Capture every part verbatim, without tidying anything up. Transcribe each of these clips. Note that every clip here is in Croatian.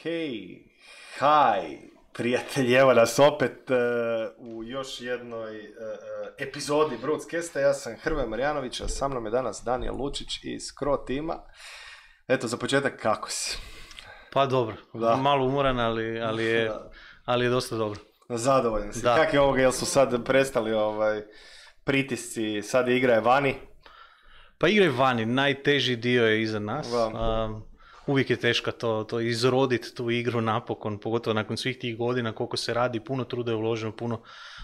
Hej, haj, prijatelji, evo nas opet uh, u još jednoj uh, epizodi Broadcasta. Ja sam Hrvoje Marjanović, a sa mnom je danas Danijel Lučić iz Skro tima. Eto, za početak, kako si? Pa dobro, da. Malo umoran, ali, ali, je, ali je dosta dobro. Zadovoljan si. Kak je ovoga, jel su sad prestali ovaj, pritisci, sad igra je vani? Pa igra je vani, najteži dio je iza nas. Um, uvijek je teško to, to izroditi tu igru napokon, pogotovo nakon svih tih godina koliko se radi, puno truda je uloženo, puno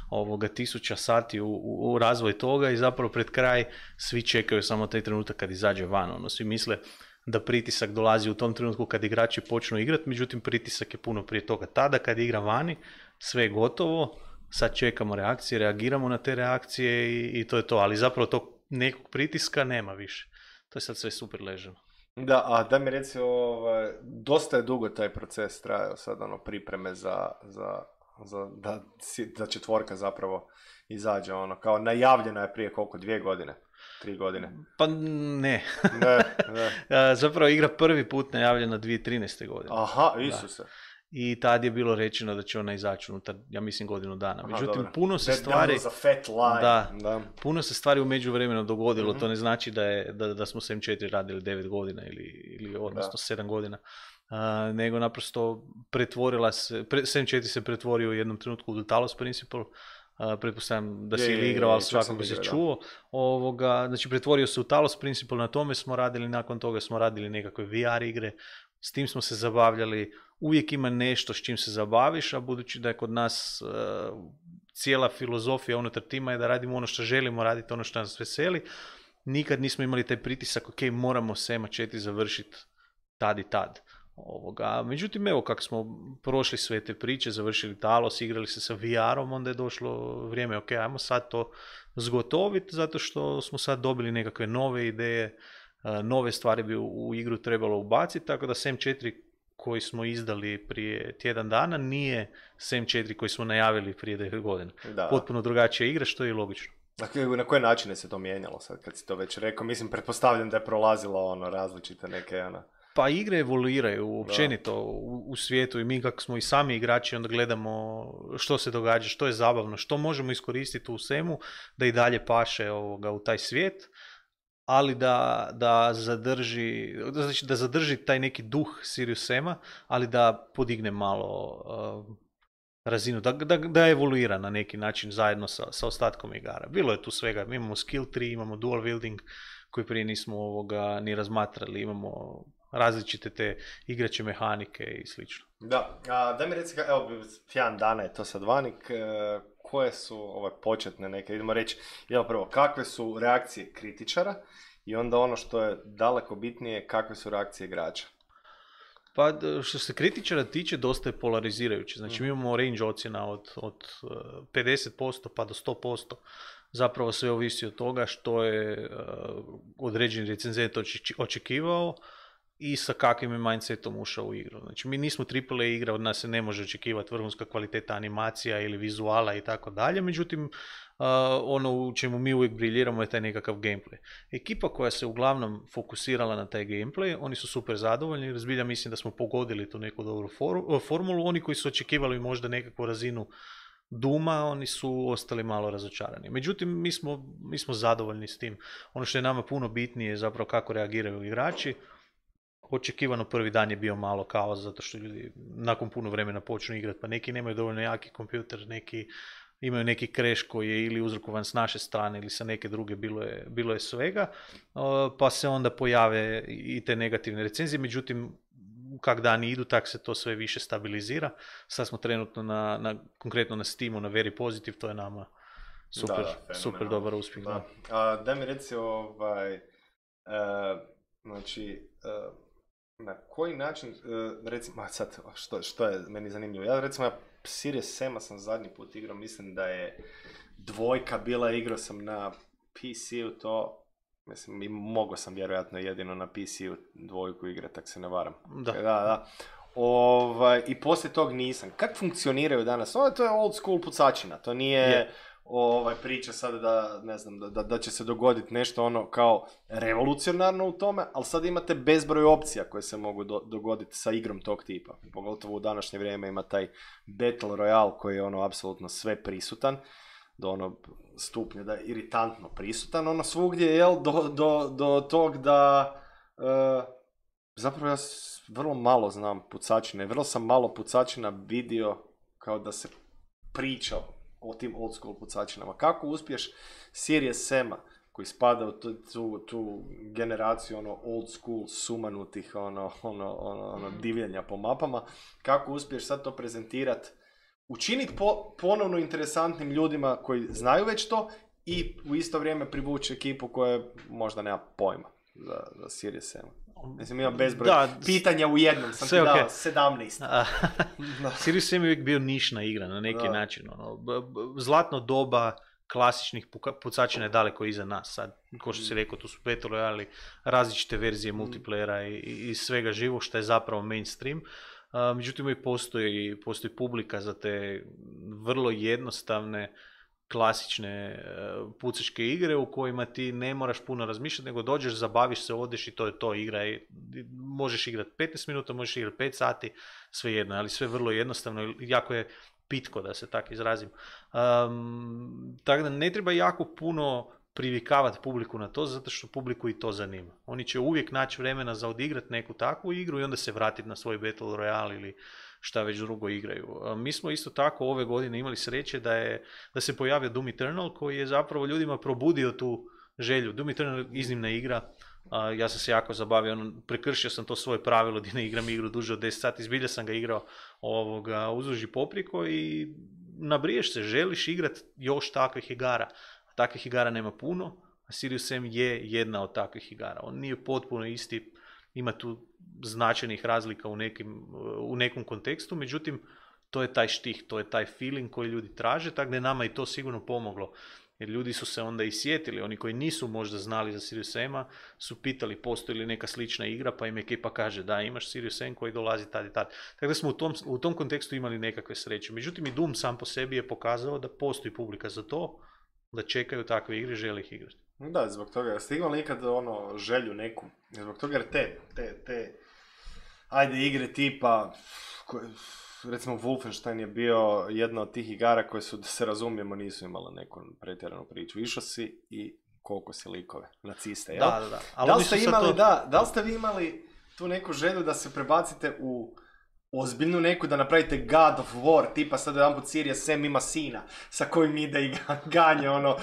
ovoga tisuća sati u, u, u razvoj toga i zapravo pred kraj svi čekaju samo taj trenutak kad izađe van. Ono, svi misle da pritisak dolazi u tom trenutku kad igrači počnu igrati, međutim pritisak je puno prije toga. Tada kad igra vani, sve je gotovo, sad čekamo reakcije, reagiramo na te reakcije i, i to je to, ali zapravo tog nekog pritiska nema više. To je sad sve super ležano. Da, a da mi reci, ovaj, dosta je dugo taj proces trajao sad, ono, pripreme za, za, za da, da četvorka zapravo izađe, ono, kao najavljena je prije koliko, dvije godine, tri godine? Pa ne. ne, ne. Zapravo igra prvi put najavljena dvije tisuće trinaeste godine. Aha, Isuse. Da. I tad je bilo rečeno da će ona izaći unutar, ja mislim, godinu dana. Međutim, Aha, puno se That stvari... That fat line. Da, da, puno se stvari u međuvremenu dogodilo. Mm-hmm. To ne znači da, je, da, da smo s M četiri radili devet godina ili, ili odnosno da. sedam godina. Uh, nego naprosto pretvorila se, pre, S M četiri se pretvorio u jednom trenutku u Talos Principle. Uh, pretpostavljam da si ili igrao, ali svakako si čuo. Ovoga, znači, pretvorio se u Talos Principle, na tome smo radili, nakon toga smo radili nekakve V R igre, s tim smo se zabavljali. Uvijek ima nešto s čim se zabaviš, a budući da je kod nas uh, cijela filozofija unutar tima je da radimo ono što želimo raditi, ono što nas veseli, nikad nismo imali taj pritisak, ok, moramo S M četiri završiti tad i tad. Ovoga. Međutim, evo kako smo prošli sve te priče, završili Talos, igrali se sa V R-om, onda je došlo vrijeme, ok, ajmo sad to zgotoviti, zato što smo sad dobili nekakve nove ideje, uh, nove stvari bi u, u igru trebalo ubaciti, tako da S M četiri koji smo izdali prije tjedan dana nije S M četiri koji smo najavili prije devet godina. Da. Potpuno drugačija igra, što je i logično. Dakle, na koje načine se to mijenjalo sad kad si to već rekao? Mislim, pretpostavljam da je prolazilo ono različite neke ono... Pa igre evoluiraju općenito u, u svijetu i mi kako smo i sami igrači onda gledamo što se događa, što je zabavno, što možemo iskoristiti u svemu da i dalje paše ovoga u taj svijet, ali da, da, zadrži, znači da zadrži taj neki duh Sirius Sam-a, ali da podigne malo uh, razinu, da, da, da evoluira na neki način zajedno sa, sa ostatkom igara. Bilo je tu svega, mi imamo skill tree, imamo dual wielding koji prije nismo ovoga ni razmatrali, imamo različite te igrače mehanike i slično. Da, a, da mi reci, evo, tjedan dana je to sad vanik, e, koje su ove početne neke, idemo reći, evo prvo, kakve su reakcije kritičara i onda ono što je daleko bitnije, kakve su reakcije igrača? Pa što se kritičara tiče, dosta je polarizirajuće. Znači mm. mi imamo range ocjena od, od pedeset posto pa do sto posto. Zapravo sve ovisi od toga što je uh, određeni recenzent očekivao i sa kakvim je mindsetom ušao u igru. Znači, mi nismo triple A igra, od nas se ne može očekivati vrhunska kvaliteta animacija ili vizuala i tako dalje, međutim, uh, ono u čemu mi uvijek briljiramo je taj nekakav gameplay. Ekipa koja se uglavnom fokusirala na taj gameplay, oni su super zadovoljni, jer zbilja mislim da smo pogodili tu neku dobru for- formulu. Oni koji su očekivali možda nekakvu razinu Duma, oni su ostali malo razočarani. Međutim, mi smo, mi smo zadovoljni s tim. Ono što je nama puno bitnije je zapravo kako reagiraju igrači. Očekivano prvi dan je bio malo kaos, zato što ljudi nakon puno vremena počnu igrati, pa neki nemaju dovoljno jaki kompjuter, neki imaju neki crash koji je ili uzrokovan s naše strane ili sa neke druge, bilo je, bilo je svega, pa se onda pojave i te negativne recenzije, međutim, kak dani idu, tak se to sve više stabilizira. Sad smo trenutno na, na konkretno na Steamu, na Very Positive, to je nama super, da, da, super dobar uspjeh. Da, A, da mi reci, ovaj, uh, znači, uh, na koji način, uh, recimo, sad, što, što je meni zanimljivo, ja recimo, ja Sirius Sam-a sam zadnji put igrao, mislim da je dvojka bila, igrao sam na P C-u to, mislim, mogao sam vjerojatno jedino na P C-u dvojku igrati, tak se ne varam. Da. Da, da. Ovaj, i poslije tog nisam. Kako funkcioniraju danas? Ovo to je old school pucačina, to nije... Yeah. ovaj, priča sad da, ne znam, da, da, da će se dogoditi nešto ono kao revolucionarno u tome, ali sad imate bezbroj opcija koje se mogu do, dogoditi sa igrom tog tipa. Pogotovo u današnje vrijeme ima taj Battle Royale koji je ono apsolutno sve prisutan, do ono stupnja da je iritantno prisutan, ono svugdje, jel, do, do, do tog da uh, zapravo ja vrlo malo znam pucačine, vrlo sam malo pucačina vidio kao da se priča o tim old school pucačinama. Kako uspješ Serious Sama, koji spada u tu, tu, tu generaciju ono old school sumanutih ono, ono, ono, ono divljenja po mapama, kako uspješ sad to prezentirati, učiniti po, ponovno interesantnim ljudima koji znaju već to i u isto vrijeme privući ekipu koja možda nema pojma za, za Serious Sama. Mislim, imam bezbroj da, pitanja u jednom, sam ti dao okay. sedamnaest. Serious Sam je uvijek bio nišna igra na neki da. način. Ono. Zlatno doba klasičnih pucačina je daleko iza nas. Sad, ko što si rekao, tu su Battle Royale, različite verzije multiplayera i, i svega živog što je zapravo mainstream. Uh, međutim, uvijek postoji, postoji publika za te vrlo jednostavne klasične uh, pucačke igre u kojima ti ne moraš puno razmišljati, nego dođeš, zabaviš se, odeš i to je to igra. I možeš igrati petnaest minuta, možeš igrati pet sati, sve jedno, ali sve vrlo jednostavno, jako je pitko, da se tako izrazim. Um, tako da ne treba jako puno privikavati publiku na to, zato što publiku i to zanima. Oni će uvijek naći vremena za odigrati neku takvu igru i onda se vratiti na svoj Battle Royale ili šta već drugo igraju. Mi smo isto tako ove godine imali sreće da, je, da se pojavio Doom Eternal, koji je zapravo ljudima probudio tu želju. Doom Eternal je iznimna igra, ja sam se jako zabavio, ono, prekršio sam to svoje pravilo da ne igram igru duže od deset sati, zbilja sam ga igrao ovoga, uzduž i popriko i nabriješ se, želiš igrati još takvih igara. Takvih igara nema puno, a Serious Sam je jedna od takvih igara. On nije potpuno isti, ima tu značajnih razlika u, nekim, u nekom kontekstu, međutim, to je taj štih, to je taj feeling koji ljudi traže, tako da je nama i to sigurno pomoglo. Jer ljudi su se onda i sjetili, oni koji nisu možda znali za Serious Sama, su pitali postoji li neka slična igra, pa im ekipa kaže da imaš Serious Sam koji dolazi tad i tad. Tako da smo u tom, u tom kontekstu imali nekakve sreće. Međutim, i Doom sam po sebi je pokazao da postoji publika za to, da čekaju takve igre, žele ih igrati. Da, zbog toga. Ste imali nikad ono želju neku? Zbog toga jer te, te, te, ajde igre tipa, koje, recimo Wolfenstein je bio jedna od tih igara koje su, da se razumijemo, nisu imala neku pretjeranu priču. Išao si i koliko si likove, naciste, jel? Da, da, da. Ali da li ste imali, to... da, da li ste vi imali tu neku želju da se prebacite u ozbiljnu neku, da napravite God of War, tipa sad jedan put Serious Sam ima sina sa kojim ide i ganje ono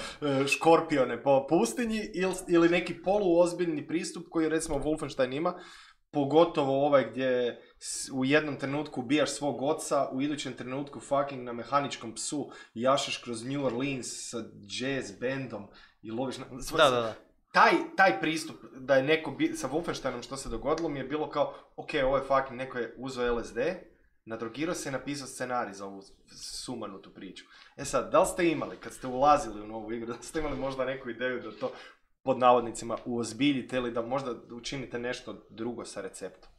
škorpione po pustinji, ili, ili neki poluozbiljni pristup koji recimo Wolfenstein ima, pogotovo ovaj gdje u jednom trenutku ubijaš svog oca, u idućem trenutku fucking na mehaničkom psu jašeš kroz New Orleans sa jazz bandom i loviš na... Da, da, da. Taj, taj pristup da je neko bi, sa Wolfensteinom što se dogodilo mi je bilo kao, ok, ovo je fucking, neko je uzeo L S D, nadrogirao se i napisao scenarij za ovu sumanutu priču. E sad, da li ste imali, kad ste ulazili u novu igru, da li ste imali možda neku ideju da to pod navodnicima uozbiljite ili da možda učinite nešto drugo sa receptom?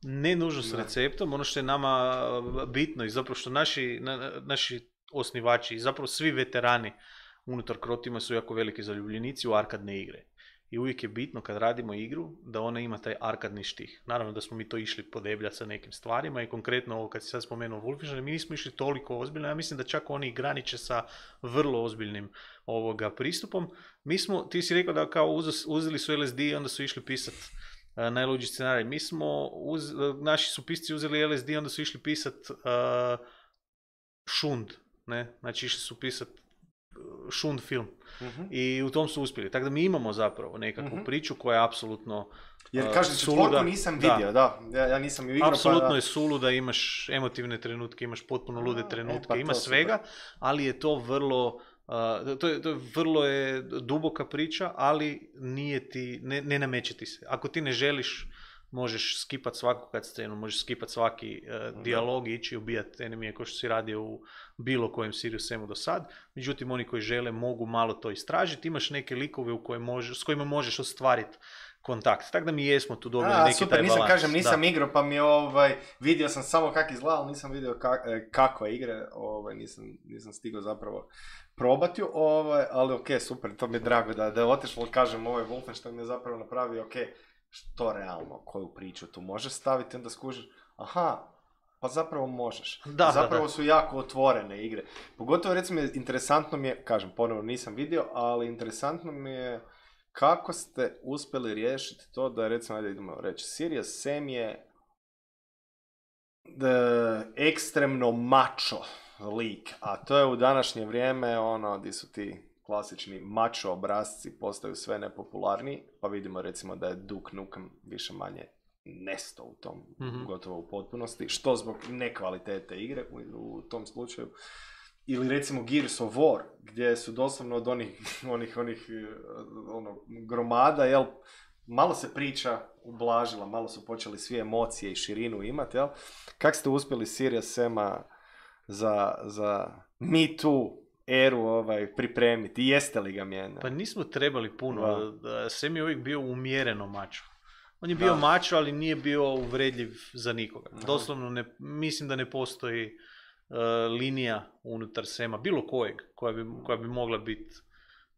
Ne nužno s receptom, ono što je nama bitno i zapravo što naši, na, naši osnivači i zapravo svi veterani unutar Crotima su jako veliki zaljubljenici u arkadne igre. I uvijek je bitno kad radimo igru da ona ima taj arkadni štih. Naravno da smo mi to išli podebljati sa nekim stvarima i konkretno ovo kad si sad spomenuo Wolfenstein, mi nismo išli toliko ozbiljno, ja mislim da čak oni graniče sa vrlo ozbiljnim ovoga pristupom. Mi smo, ti si rekao da kao uz, uzeli su L S D i onda su išli pisati uh, najluđi scenarij. Mi smo, uz, uh, naši su pisci uzeli L S D i onda su išli pisati uh, šund, ne? Znači išli su pisati šund film. Uh-huh. I u tom su uspjeli. Tako da mi imamo zapravo nekakvu uh-huh. priču koja je apsolutno jer kažem, četvorku nisam vidio, da. da. Ja, ja nisam ju igrao. Apsolutno pa... je suluda, imaš emotivne trenutke, imaš potpuno lude trenutke, e, pa ima svega, super. Ali je to vrlo, uh, to, je, to je vrlo je duboka priča, ali nije ti, ne, ne nameće ti se. Ako ti ne želiš, možeš skipati svaku kad scenu, možeš skipati svaki uh, dijalog i ići ubijati enemije kao što si radio u bilo kojem Serious Samu do sad. Međutim, oni koji žele mogu malo to istražiti. Imaš neke likove u koje može, s kojima možeš ostvariti kontakt. Tako da mi jesmo tu dobili A, neki super, taj balans. nisam, kažem, nisam da. igrao, pa mi ovaj, vidio sam samo kak izgleda, ali nisam vidio kak, kakve igre, ovaj, nisam, nisam stigao zapravo probati, ovaj, ali ok, super, to mi je drago da, da je otišlo, kažem, ovaj Wolfenstein mi je zapravo napravio, ok, što realno, koju priču tu možeš staviti, onda skužiš, aha, pa zapravo možeš. Da, zapravo da, da. su jako otvorene igre. Pogotovo, recimo, interesantno mi je, kažem, ponovno nisam vidio, ali interesantno mi je kako ste uspjeli riješiti to da, recimo, ajde idemo reći, Serious Sam je da, ekstremno mačo lik, a to je u današnje vrijeme ono gdje su ti klasični mačo obrazci postaju sve nepopularniji, pa vidimo recimo da je Duke Nukem više manje nesto u tom, mm-hmm. gotovo u potpunosti, što zbog nekvalitete igre u, u tom slučaju. Ili recimo Gears of War, gdje su doslovno od onih, onih, onih ono, gromada, jel, malo se priča ublažila, malo su počeli svi emocije i širinu imati, jel? Kako ste uspjeli Serious Sama za, za Me Too eru ovaj, pripremiti? Jeste li ga mijenjali? Pa nismo trebali puno. Da. Sam je uvijek bio umjereno mačo. On je bio da. mačo, ali nije bio uvredljiv za nikoga. Aha. Doslovno ne, mislim da ne postoji uh, linija unutar Sema, bilo kojeg, koja bi, koja bi mogla biti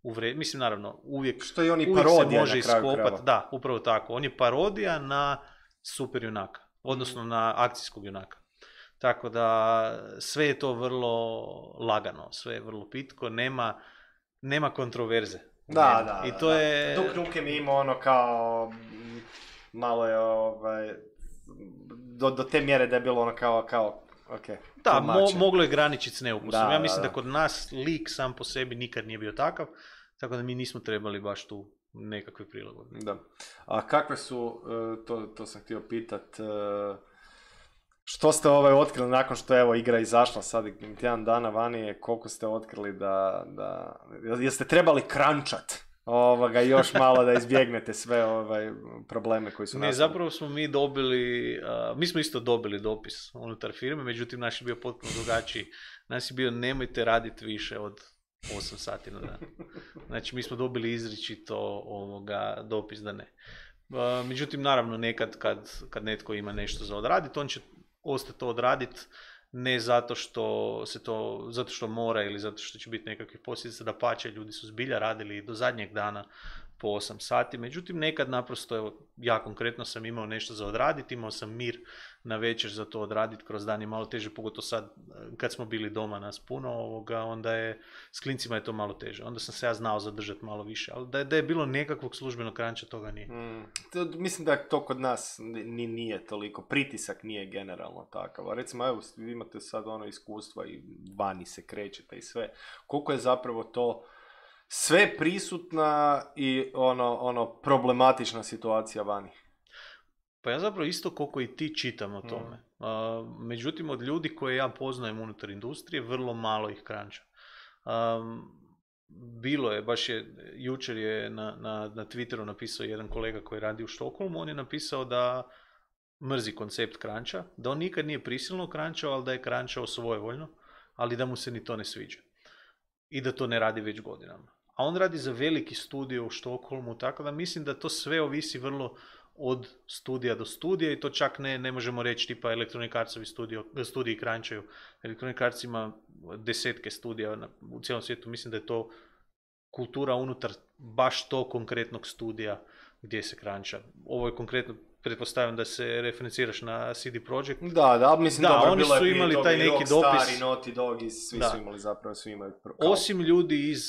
uvredljiva. Mislim, naravno, uvijek, što je on i uvijek parodija se može na kraju iskopati. krava. Da, upravo tako. On je parodija na super junaka, odnosno mm. na akcijskog junaka. Tako da sve je to vrlo lagano, sve je vrlo pitko, nema, nema kontroverze. Da, da, I to da. je... Duke Nukem ima ono kao, malo je ovaj, do, do te mjere da je bilo ono kao, kao ok. Da, mo, moglo je graničiti s neukusom. Da, ja mislim da, da. da kod nas lik sam po sebi nikad nije bio takav, tako da mi nismo trebali baš tu nekakve prilagodbe. Da. A kakve su, to, to sam htio pitat, što ste ovaj otkrili nakon što je evo igra izašla sad tjedan dana vani, koliko ste otkrili da, da jeste trebali krančat ovoga još malo da izbjegnete sve ovaj probleme koji su nastali? Ne, zapravo smo mi dobili, uh, mi smo isto dobili dopis unutar firme, međutim naš je bio potpuno drugačiji. Naš je bio nemojte raditi više od osam sati na dan. Znači mi smo dobili izričito ovoga dopis da ne. Uh, međutim naravno nekad kad, kad netko ima nešto za odraditi, on će ostati to odraditi, ne zato što se to, zato što mora ili zato što će biti nekakve posljedice, da pače, ljudi su zbilja radili do zadnjeg dana po osam sati, međutim nekad naprosto, evo, ja konkretno sam imao nešto za odraditi, imao sam mir na večer za to odraditi, kroz dan je malo teže, pogotovo sad kad smo bili doma nas puno, ovoga, onda je, s klincima je to malo teže, onda sam se ja znao zadržati malo više, ali da je, da je bilo nekakvog službenog kranča, toga nije. Mm, to, mislim da to kod nas ni, nije toliko, pritisak nije generalno takav, a recimo evo, vi imate sad ono iskustva i vani se krećete i sve, koliko je zapravo to sve prisutna i ono, ono problematična situacija vani? Pa ja zapravo isto koliko i ti čitam o tome. Mm. Uh, međutim, od ljudi koje ja poznajem unutar industrije, vrlo malo ih kranča. Um, bilo je, baš je, jučer je na, na, na Twitteru napisao jedan kolega koji radi u Štokholmu, on je napisao da mrzi koncept kranča, da on nikad nije prisilno krančao, ali da je krančao svojevoljno, ali da mu se ni to ne sviđa. I da to ne radi već godinama. A on radi za veliki studio u Štokholmu, tako da mislim da to sve ovisi vrlo od studija do studija i to čak ne, ne možemo reći tipa Electronic Artsovi studio, studiji krančaju. Electronic Arts ima desetke studija na, u cijelom svijetu, mislim da je to kultura unutar baš to konkretnog studija gdje se kranča. Ovo je konkretno, pretpostavljam da se referenciraš na C D Projekt. Da, da, mislim da, dobro, oni su imali taj neki dopis. Stari, Naughty Dog i svi da. su imali zapravo, svi imaju... Kao... Osim ljudi iz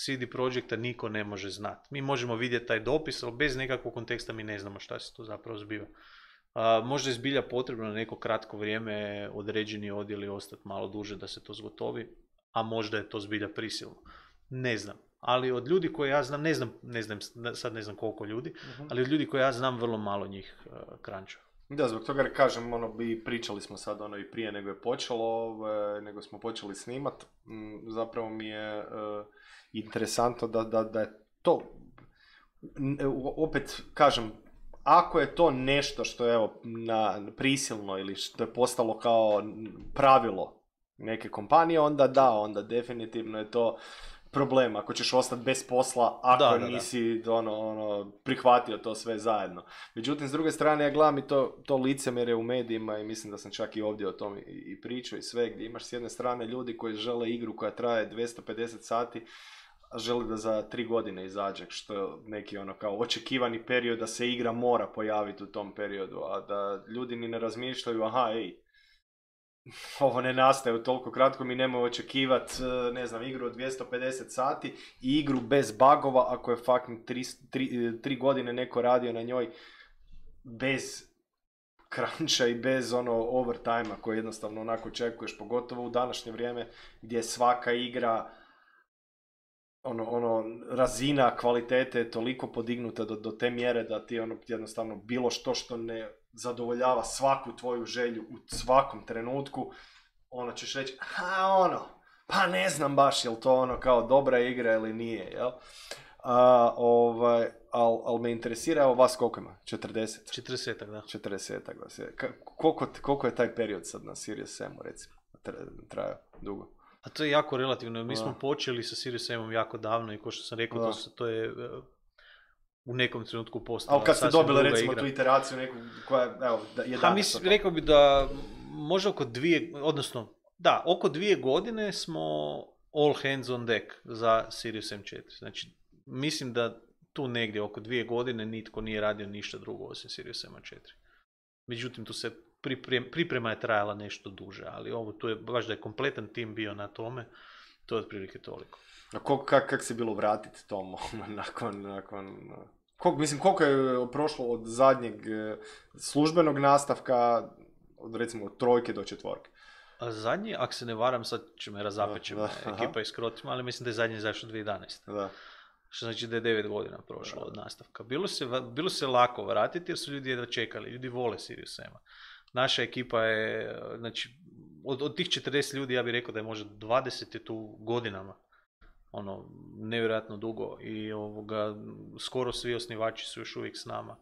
C D Projekta niko ne može znati. Mi možemo vidjeti taj dopis, ali bez nekakvog konteksta mi ne znamo šta se tu zapravo zbiva. Uh, možda je zbilja potrebno na neko kratko vrijeme određeni odjeli ostati malo duže da se to zgotovi, a možda je to zbilja prisilno. Ne znam. Ali od ljudi koje ja znam, ne znam, ne znam, sad ne znam koliko ljudi, uh-huh. ali od ljudi koje ja znam vrlo malo njih uh, kranča. Da, zbog toga kažem, ono, bi pričali smo sad ono i prije nego je počelo, ove, nego smo počeli snimat, m, zapravo mi je e, interesantno da, da, da je to, opet kažem, ako je to nešto što je evo, na, prisilno ili što je postalo kao pravilo neke kompanije, onda da, onda definitivno je to problem ako ćeš ostati bez posla ako Da, da, nisi ono, ono, prihvatio to sve zajedno. Međutim, s druge strane, ja gledam i to, to licemjerje u medijima i mislim da sam čak i ovdje o tom i, i pričao i sve, gdje imaš s jedne strane ljudi koji žele igru koja traje dvjesto pedeset sati, a žele da za tri godine izađe, što je neki ono kao očekivani period da se igra mora pojaviti u tom periodu, a da ljudi ni ne razmišljaju, aha, ej, ovo ne nastaje u toliko kratko, mi nemoj očekivati, ne znam, igru od dvjesto pedeset sati i igru bez bugova ako je fucking tri, tri, tri godine neko radio na njoj bez cruncha i bez ono overtime-a koji jednostavno onako očekuješ, pogotovo u današnje vrijeme gdje je svaka igra ono, ono, razina kvalitete je toliko podignuta do, do te mjere da ti ono jednostavno bilo što što ne zadovoljava svaku tvoju želju u svakom trenutku, ono ćeš reći, a ono, pa ne znam baš jel to ono kao dobra igra ili nije, jel? A, ovaj, ali al me interesira, evo vas koliko ima? četrdeset? četrdeset, da. četrdeset, da. Koliko, koliko je taj period sad na Serious Samu, recimo, trajao dugo? A to je jako relativno. Mi smo počeli sa Serious Samom jako davno i kao što sam rekao, to, se, to je uh, u nekom trenutku postala. Ali kad ste dobili recimo igra. tu iteraciju neku koja, evo, je danas. Mislim, rekao bi da možda oko dvije, odnosno, da, oko dvije godine smo all hands on deck za Serious M četiri. Znači, mislim da tu negdje oko dvije godine nitko nije radio ništa drugo osim Serious M četiri. Međutim, tu se Priprema, priprema je trajala nešto duže, ali ovo tu je baš da je kompletan tim bio na tome, to je otprilike toliko. A kak, kak, kak se bilo vratiti tomu nakon, nakon, koliko, mislim koliko je prošlo od zadnjeg službenog nastavka, od recimo od trojke do četvorke? A zadnji, ako se ne varam, sad će me razapeći ekipa iz Krotima, ali mislim da je zadnji zašao dvije tisuće jedanaeste. Da. Što znači da je devet godina prošlo da. Od nastavka. Bilo se, bilo se lako vratiti jer su ljudi jedva čekali, ljudi vole Serious Sama. Naša ekipa je, znači, od, od tih četrdeset ljudi ja bih rekao da je možda dvadeset je tu godinama, ono, nevjerojatno dugo i ovoga, skoro svi osnivači su još uvijek s nama,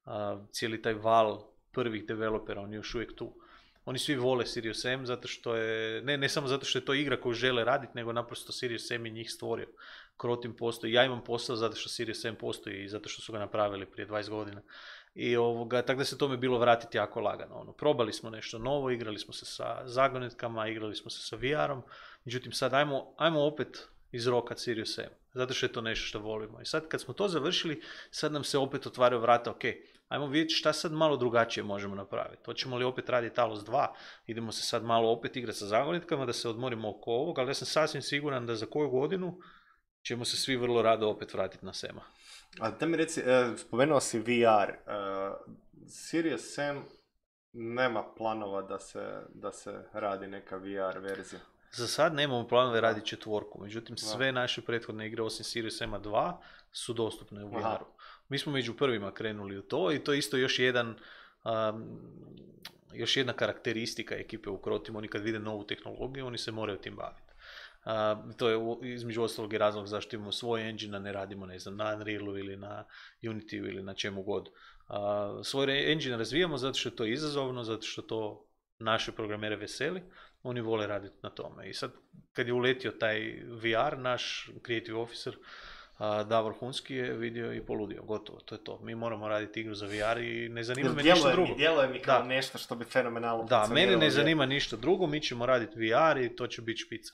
a, cijeli taj val prvih developera, on je još uvijek tu. Oni svi vole Serious Sam zato što je, ne, ne samo zato što je to igra koju žele raditi, nego naprosto Serious Sam je njih stvorio. Krotim postoji, ja imam posao zato što Serious Sam postoji i zato što su ga napravili prije dvadeset godina. I ovoga, tako da se tome bilo vratiti jako lagano. Ono, probali smo nešto novo, igrali smo se sa zagonetkama, igrali smo se sa V R-om, međutim sad ajmo, ajmo opet izrokat Serious Sam, zato što je to nešto što volimo. I sad kad smo to završili, sad nam se opet otvaraju vrata, ok, ajmo vidjeti šta sad malo drugačije možemo napraviti. Hoćemo li opet raditi Talos dva, idemo se sad malo opet igrati sa zagonetkama, da se odmorimo oko ovog, ali ja sam sasvim siguran da za koju godinu ćemo se svi vrlo rado opet vratiti na Sema. A da mi reci, eh, spomenuo si V R, eh, Serious Sam nema planova da se, da se radi neka V R verzija? Za sad nemamo planove raditi četvorku, međutim sve naše prethodne igre osim Serious Sama dva su dostupne u V R-u. Mi smo među prvima krenuli u to i to je isto još jedan um, još jedna karakteristika ekipe u Krotimu. Oni kad vide novu tehnologiju, oni se moraju tim baviti. Uh, to je između ostalog i razlog zašto imamo svoj engine, a ne radimo ne znam, na Unrealu ili na Unityu ili na čemu god. Uh, svoj engine razvijamo zato što je to izazovno, zato što to naše programere veseli, oni vole raditi na tome. I sad kad je uletio taj V R, naš creative officer uh, Davor Hunski je vidio i poludio, gotovo, to je to. Mi moramo raditi igru za V R i ne zanima me ništa drugo. Djeluje mi kao da. Nešto što bi fenomenalno Da, mene ne zanima ništa drugo, mi ćemo raditi V R i to će biti špica.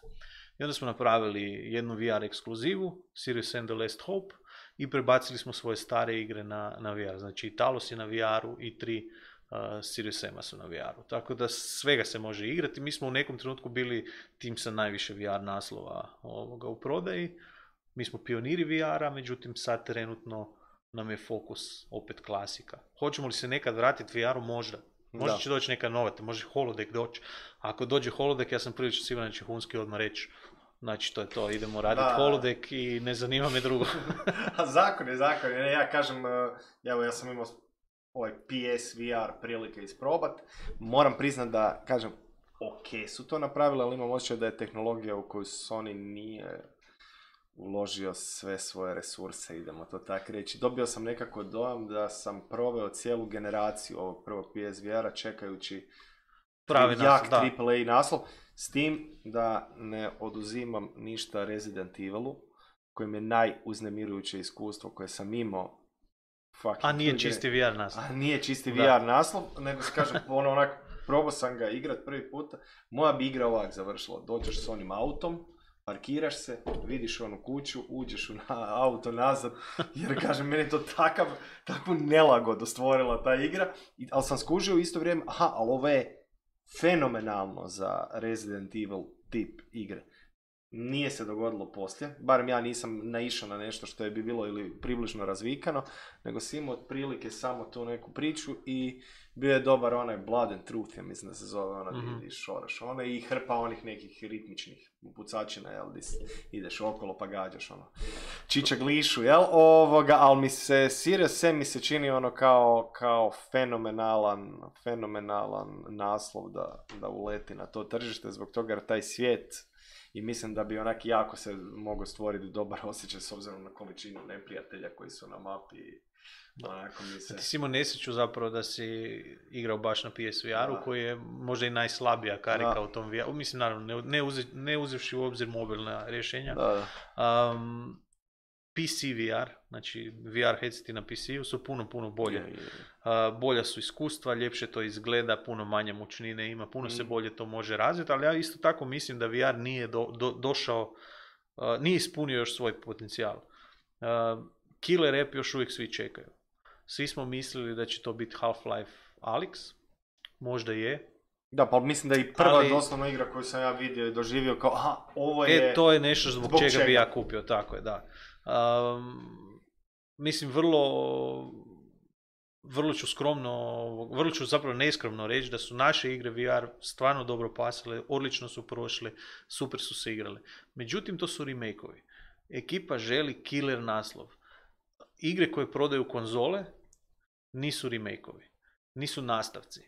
I onda smo napravili jednu V R ekskluzivu, Serious Sam The Last Hope, i prebacili smo svoje stare igre na, na V R. Znači i Talos je na V R-u i tri uh, Serious Sama su na V R-u. Tako da svega se može igrati. Mi smo u nekom trenutku bili tim sa najviše V R naslova ovoga u prodaji. Mi smo pioniri V R-a, međutim sad trenutno nam je fokus opet klasika. Hoćemo li se nekad vratiti V R-u? Možda. Možda da. Će doći neka nova, može holodeck doći. Ako dođe holodeck, ja sam prilično siguran da će Hunski odmah reći, znači to je to, idemo raditi holodeck i ne zanima me drugo. A zakon je zakon, ja kažem, evo ja sam imao ovaj P S V R prilike isprobat, moram priznat da, kažem, ok su to napravili, ali imam osjećaj da je tehnologija u koju Sony nije uložio sve svoje resurse, idemo to tako reći. Dobio sam nekako dojam da sam proveo cijelu generaciju ovog prvog P S V R-a čekajući pravi jak naslov, triple A naslov. S tim da ne oduzimam ništa Resident Evilu, kojem je najuznemirujuće iskustvo koje sam imao. A nije čisti V R naslov. A nije čisti V R naslov, nego se kažem, ono onak, probao sam ga igrat prvi puta. Moja bi igra ovak završila. Dođeš s onim autom, parkiraš se, vidiš onu kuću, uđeš u na, auto nazad, jer kažem, meni je to takav, takvu nelagodu stvorila ta igra, I, ali sam skužio u isto vrijeme, aha, ali ovo je fenomenalno za Resident Evil tip igre. Nije se dogodilo poslije, barem ja nisam naišao na nešto što je bi bilo ili približno razvikano, nego sam imao otprilike samo tu neku priču i bio je dobar onaj Blood and Truth, ja mislim da se zove ona mm-hmm. di šoraš ona i hrpa onih nekih ritmičnih pucačina, jel, di ideš okolo pa gađaš ono čiča glišu, jel, ovoga, ali mi se Serious Sam mi se čini ono kao, kao fenomenalan, fenomenalan naslov da, da uleti na to tržište, zbog toga jer taj svijet i mislim da bi onak jako se mogao stvoriti dobar osjećaj s obzirom na količinu neprijatelja koji su na mapi. Onako mi se... Ti si imao nesreću zapravo da si igrao baš na P S V R-u koji je možda i najslabija karika da. U tom V R-u. Mislim, naravno, ne, uze, ne uzevši u obzir mobilna rješenja. Da, da. Um, P C V R, znači V R headseti na P C-u su puno, puno bolje. Je, je, je. Uh, bolja su iskustva, ljepše to izgleda, puno manje mučnine ima, puno mm. se bolje to može razviti, ali ja isto tako mislim da V R nije do, do, došao, uh, nije ispunio još svoj potencijal. Uh, Killer app još uvijek svi čekaju. Svi smo mislili da će to biti Half-Life Alyx, možda je. Da, pa mislim da je i prva ali, doslovna igra koju sam ja vidio i doživio kao, aha, ovo je... E, to je nešto zbog, zbog čega, čega bi ja kupio, tako je, da. Um, mislim, vrlo, vrlo ću skromno, vrlo ću zapravo neskromno reći da su naše igre V R stvarno dobro pasale, odlično su prošli, super su se igrali. Međutim, to su remake-ovi. Ekipa želi killer naslov. Igre koje prodaju konzole nisu remake-ovi, nisu nastavci.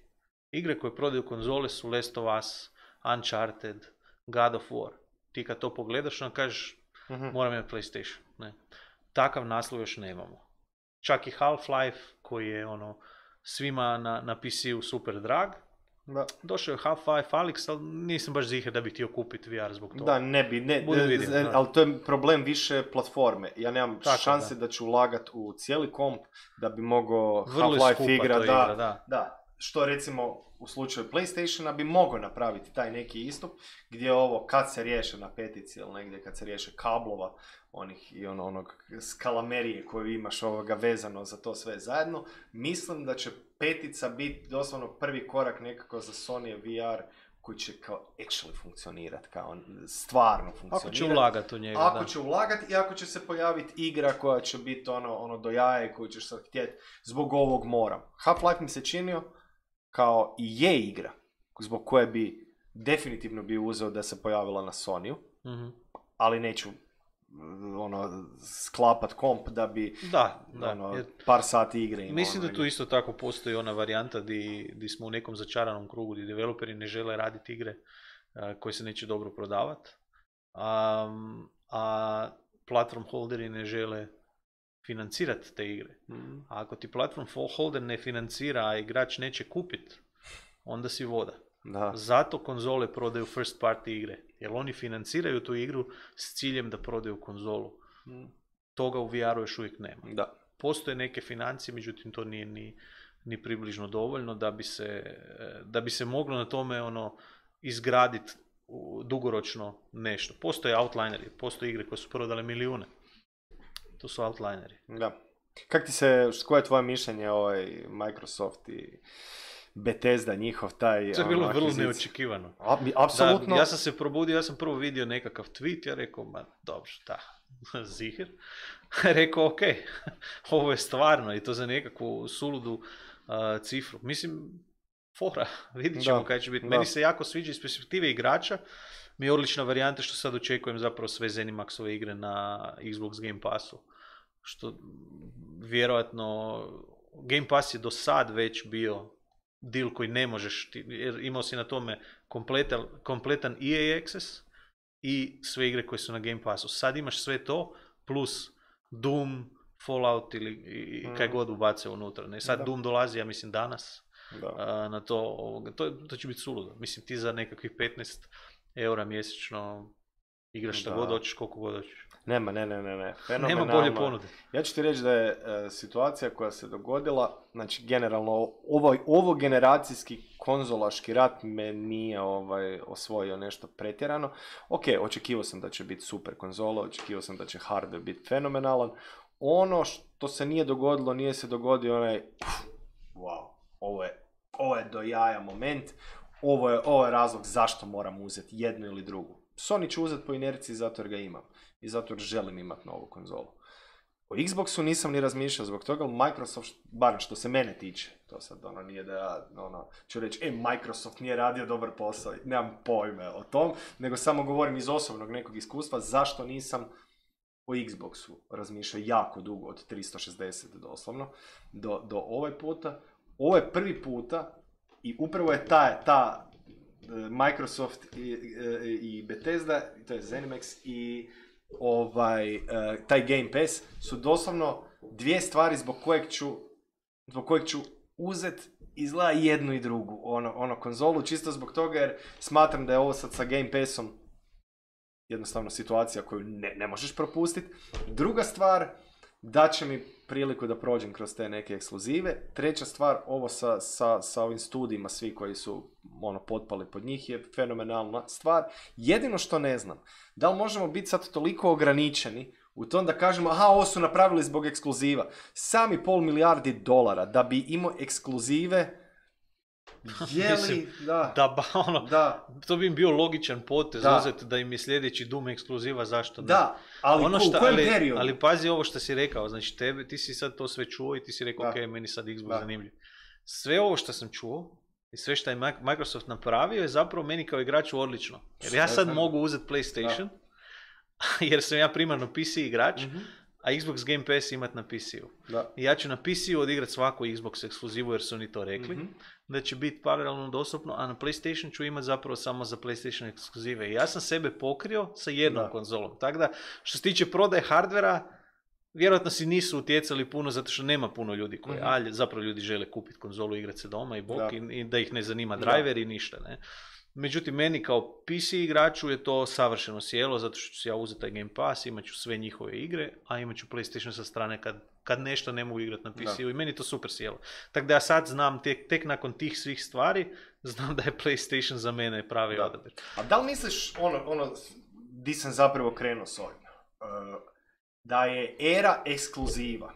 Igre koje prodaju konzole su Last of Us, Uncharted, God of War. Ti kad to pogledaš, onda kažeš, uh-huh. moram imati PlayStation. Ne. Takav naslov još nemamo. Čak i Half-Life, koji je ono svima na, na P C-u super drag, da. Došao je Half-Life Alyx, ali nisam baš ziher da bi htio kupiti V R zbog toga. Da, ne bi, ne, ne vidim, ne, ali to je problem više platforme. Ja nemam tako, šanse da. da ću ulagati u cijeli komp da bi mogao Half-Life igra, da, igra da. da. Što recimo u slučaju PlayStationa bi mogao napraviti taj neki istup gdje ovo kad se riješe na petici ili negdje kad se riješe kablova onih i ono, onog skalamerije koju imaš ovoga vezano za to sve zajedno, mislim da će petica biti doslovno prvi korak nekako za Sony V R koji će kao actually funkcionirati, kao stvarno funkcionirati. Ako će ulagati u njega, Ako da. će ulagati i ako će se pojaviti igra koja će biti ono, ono do jaja koju ćeš sad htjeti zbog ovog moram. Half-Life mi se činio kao i je igra zbog koje bi definitivno bi uzeo da se pojavila na Sonyu, mm-hmm. ali neću ono, sklapat komp da bi da, da, ono, jer, par sati igre imao. Mislim ono, da tu isto tako postoji ona varijanta di, di smo u nekom začaranom krugu, gdje developeri ne žele raditi igre uh, koje se neće dobro prodavati, um, a platform holderi ne žele financirati te igre. Mm. A ako ti platform holder ne financira, a igrač neće kupiti, onda si voda. Da. Zato konzole prodaju first party igre, jer oni financiraju tu igru s ciljem da prodaju konzolu. Mm. Toga u V R-u još uvijek nema. Da. Postoje neke financije, međutim to nije ni, ni približno dovoljno da bi se, da bi se moglo na tome ono izgraditi dugoročno nešto. Postoje outlineri, postoje igre koje su prodale milijune. To su outlineri. Da. Kak ti se, koje je tvoje mišljenje ovaj Microsoft i Bethesda, njihov taj... To je bilo vrlo neočekivano. A, apsolutno. Da, ja sam se probudio, ja sam prvo vidio nekakav tweet, ja rekao, ma dobro, da, zihir. Rekao, ok, ovo je stvarno i to za nekakvu suludu uh, cifru. Mislim, fora, vidit ćemo kaj će biti. Meni se jako sviđa iz perspektive igrača. Mi je odlična varijanta što sad očekujem zapravo sve Zenimaxove igre na Xbox Game Passu. Što vjerojatno Game Pass je do sad već bio deal koji ne možeš, jer imao si na tome kompletan, kompletan E A Access i sve igre koje su na Game Passu. Sad imaš sve to plus Doom, Fallout ili i kaj god ubace unutra. Ne? Sad da. Doom dolazi, ja mislim danas, da. A, na to, to, to će biti suludo. Mislim ti za nekakvih petnaest eura mjesečno, igraš šta Da. god hoćeš, koliko god hoćeš. Nema, ne, ne, ne, ne. Nema Fenomenalno. bolje ponude. Ja ću ti reći da je e, situacija koja se dogodila, znači generalno ovo, ovo generacijski konzolaški rat me nije ovaj, osvojio nešto pretjerano. Ok, očekivao sam da će biti super konzola, očekivao sam da će hardware biti fenomenalan. Ono što se nije dogodilo, nije se dogodio onaj wow, ovo je, ovo je do jaja moment, ovo je, ovo je razlog zašto moram uzeti jednu ili drugu. Sony ću uzeti po inerciji zato jer ga imam i zato jer želim imati novu konzolu. O Xboxu nisam ni razmišljao zbog toga, ali Microsoft, bar što se mene tiče, to sad ono nije da ja ono, ću reći, e, Microsoft nije radio dobar posao, nemam pojme o tom, nego samo govorim iz osobnog nekog iskustva zašto nisam o Xboxu razmišljao jako dugo, od tristo šezdeset doslovno, do, do ovaj puta. Ovo je prvi puta i upravo je ta, ta Microsoft i, i Bethesda, to je ZeniMax i ovaj, taj Game Pass su doslovno dvije stvari zbog kojeg ću, zbog kojeg ću uzet izgleda jednu i drugu ono, ono konzolu, čisto zbog toga jer smatram da je ovo sad sa Game Passom jednostavno situacija koju ne, ne možeš propustiti. Druga stvar, da će mi priliku da prođem kroz te neke ekskluzive. Treća stvar, ovo sa, sa, sa ovim studijima, svi koji su ono, potpali pod njih, je fenomenalna stvar. Jedino što ne znam, da li možemo biti sad toliko ograničeni u tom da kažemo, aha, ovo su napravili zbog ekskluziva. Sami pol milijardi dolara da bi imao ekskluzive, je li, da, da, ba, ono, da, to bi im bio logičan potez da. uzeti da im je sljedeći Doom ekskluziva, zašto ne? Da, ali ono u šta, kojem ali, periodu? ali pazi ovo što si rekao, znači tebe, ti si sad to sve čuo i ti si rekao, Da. ok, meni sad Xbox Da. zanimljiv. Sve ovo što sam čuo i sve što je Microsoft napravio je zapravo meni kao igraču odlično. Jer ja sad mogu uzeti PlayStation, jer sam ja primarno P C igrač, Mhm. a Xbox Game Pass imat na P C-u. Da. I ja ću na P C-u odigrati svaku Xbox ekskluzivu jer su oni to rekli, Mhm. da će biti paralelno dostupno, a na PlayStation ću imati zapravo samo za PlayStation ekskluzive. I ja sam sebe pokrio sa jednom Da. konzolom. Tako da, što se tiče prodaje hardvera, vjerojatno si nisu utjecali puno zato što nema puno ljudi koji, Mhm. a zapravo ljudi žele kupiti konzolu, igrati se doma i bok, Da. i, i da ih ne zanima Da. driver i ništa, ne. Međutim, meni kao P C igraču je to savršeno sjelo, zato što ću ja uzeti taj Game Pass, imat ću sve njihove igre, a imat ću PlayStation sa strane kad, kad nešto ne mogu igrati na P C-u, Da. i meni to super sjelo. Tako da ja sad znam, tek, tek nakon tih svih stvari, znam da je PlayStation za mene pravi Da. odabir. A da li misliš, ono, ono, di sam zapravo krenuo s ovim, uh, da je era ekskluziva,